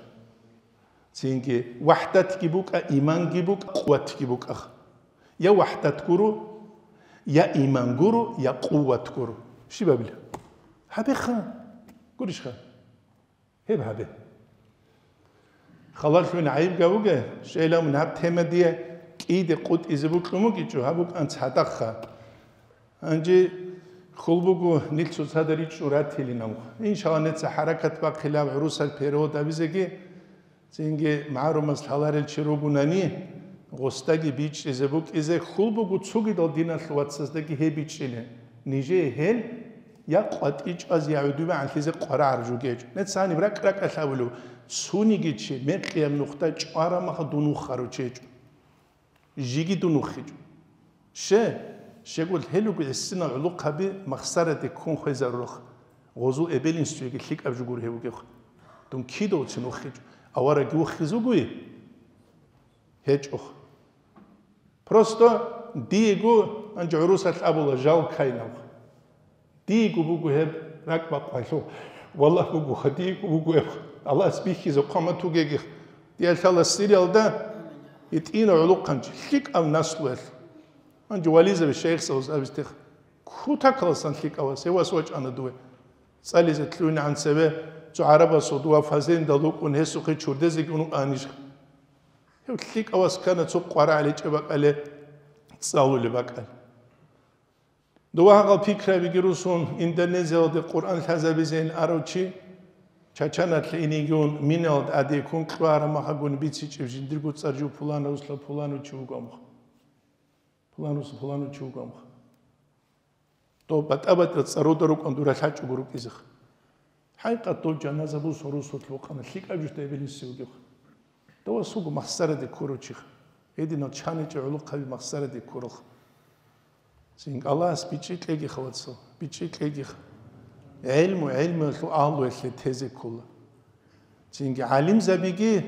Цинги вахӀдатги букӀа, иманги букӀа, къуватги букӀа. Я вахӀдат гуро, я иман гуро, я къуват гуро. Щиб гьабила? Гьабеха. Гурищха? Гьеб гьабе. Халалъун гӀайиб гавуге, щайилан гьаб тема дие кӀиде къутӀизе букьун бугичӀо, гьаб букӀан цадахъа. Гьанже хьул буго нилъ цоцазда ричӀчӀун ратилин абун. Иншалла, нилъеца хӀаракат бахъилаб гӀурусал перевод гьабизеги, цинги магӀарумаз лъаларел чи ругунани, гъосдаги бичӀчӀизе букӀизе хьул буго цогидал диналъул вацаздаги гьеб бичӀчӀилин. Нижее гьел я къватӀи чӀвазе, я гӀодобе гӀанлъизе къварагӀараб жо гьечӀо. Нилъ гьаниб ракӀ-ракӀалъ абулеб, цониги чи мекъияб нухда чӀвараб мехалъ дун вухарав чи гьечӀо. Жеги дун вухичӀо. Ще, щегол гьел руго гӀисинал гӀолохъаби махсараде ккун хвезарурал, гъозул эбел-инсуеги лъикӀаб жо гуро гьев вугевха. Дун кидавцин вухичӀо. Аварагги вухизе вугои? ГьечӀоха. Просто диего гьанже гӀурусалъ абула жал кайнавха. Диего буго гьеб ракӀбакъвалъув. Валлагь, бугоха, диего буго гьеб. Аллагьас бихьизе хъван батугеги. Диялъала Сириялда гьитӀина гӀолохъанчи, лъикӀав наслуялъ. Гьанже вализаби шайихзабаз абистеха. Кутакаласан лъикӀав вас, гьев вас вачӀана дуе. ЦӀализе лъугьинегӀан цеве цо гӀарабасул дова фазенда лукӀун гьесухъе чурдезеги унукъанищ. Гьев лъикӀав вас ккана цо къварагӀел гьечӀеб бакӀалде цӀалулеб бакӀалде. Дова гьагъал пикрабиги русун, Индонезиялде Къуръан лъазабизейин арав чи, Чачаналъе инеги ун, минаялда тӀаде ккун кьвараб махалъгун бицичӀеб жиндирго цӀар жо пуланав руслъа пуланав чи вуго амха. Пуланав руслъа пуланав чи вуго амха. Дов батӀа-батӀа цӀаруда рукӀун дура лъачӀого рукӀизеха. ХӀакъикъат дов жаназа бусун русулъ вукъана, лъикӀаб жо гьеб гьениса вугевха. Дова суго махсараде ккурав чиха. Гьединал чаничӀеб гӀолохъаби махсараде ккуралха. Цинги Аллагьас бичӀчӀи кьегиха, вацал, бичӀчӀи кьегиха. ГӀелму гӀелмуялъул агьлуялъе тезе ккола. Цинги гӀалимзабиги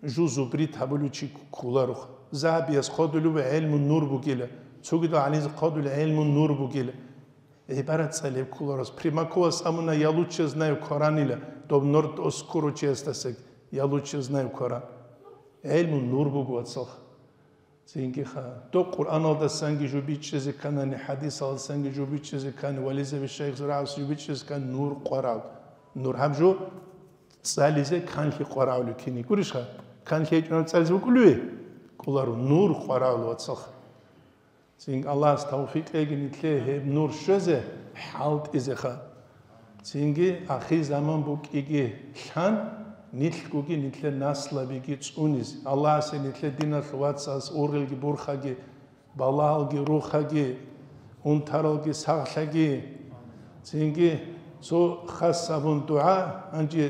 жо зубрит гьабулев чи кколароха. Загьабияс хъодулев гӀелму нур бугила, цогидал гӀалимзабаз хъодулев гӀелму нур бугила. ГӀибарат цӀалеб кколарос. Примаковас абуна: «Я лучше знаю Коран», ила, доб нур дос ккурав чиясдасаги: «Я лучше знаю Коран». ГӀелму нур буго, вацалха. Цинги ха. Доб Къуръаналдасанги жо бичӀчӀизе ккани, хӀадисалдасанги жо бичӀчӀизе ккани, вализаби шайихзабаз жо бичӀчӀизе ккани, нур къварав. Нур гьаб жо цӀализе канлъи къварагӀулев кини гурищха? Канлъи гьечӀунав цӀализе букӀулеве? КӀоларо, нур къварагӀулев, вацалха. Цинги Аллагьас тавфикъ кьеги нилъее гьеб нур щвезе, хӀалтӀизеха. Цинги ахирзаман букӀиги лъан, нилъгоги нилъер наслабиги цӀунизе. Аллагьасе нилъер диналъул вацас ургъелги бурхаги, балагьалги рухаги, унтаралги сагълъаги. Цинги цо хас абун дугӀа, гьанже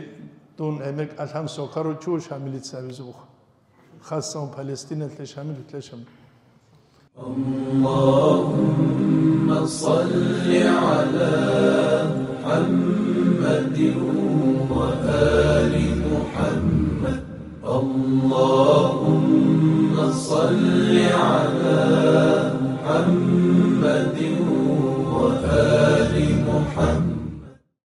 дун гӀемер кӀалъан сокарав чуш гьамилица абизе буха. Хассан Палестиналъе Шамил, Шамил. اللهم صل على محمد وآل محمد. اللهم صل على محمد وآل محمد.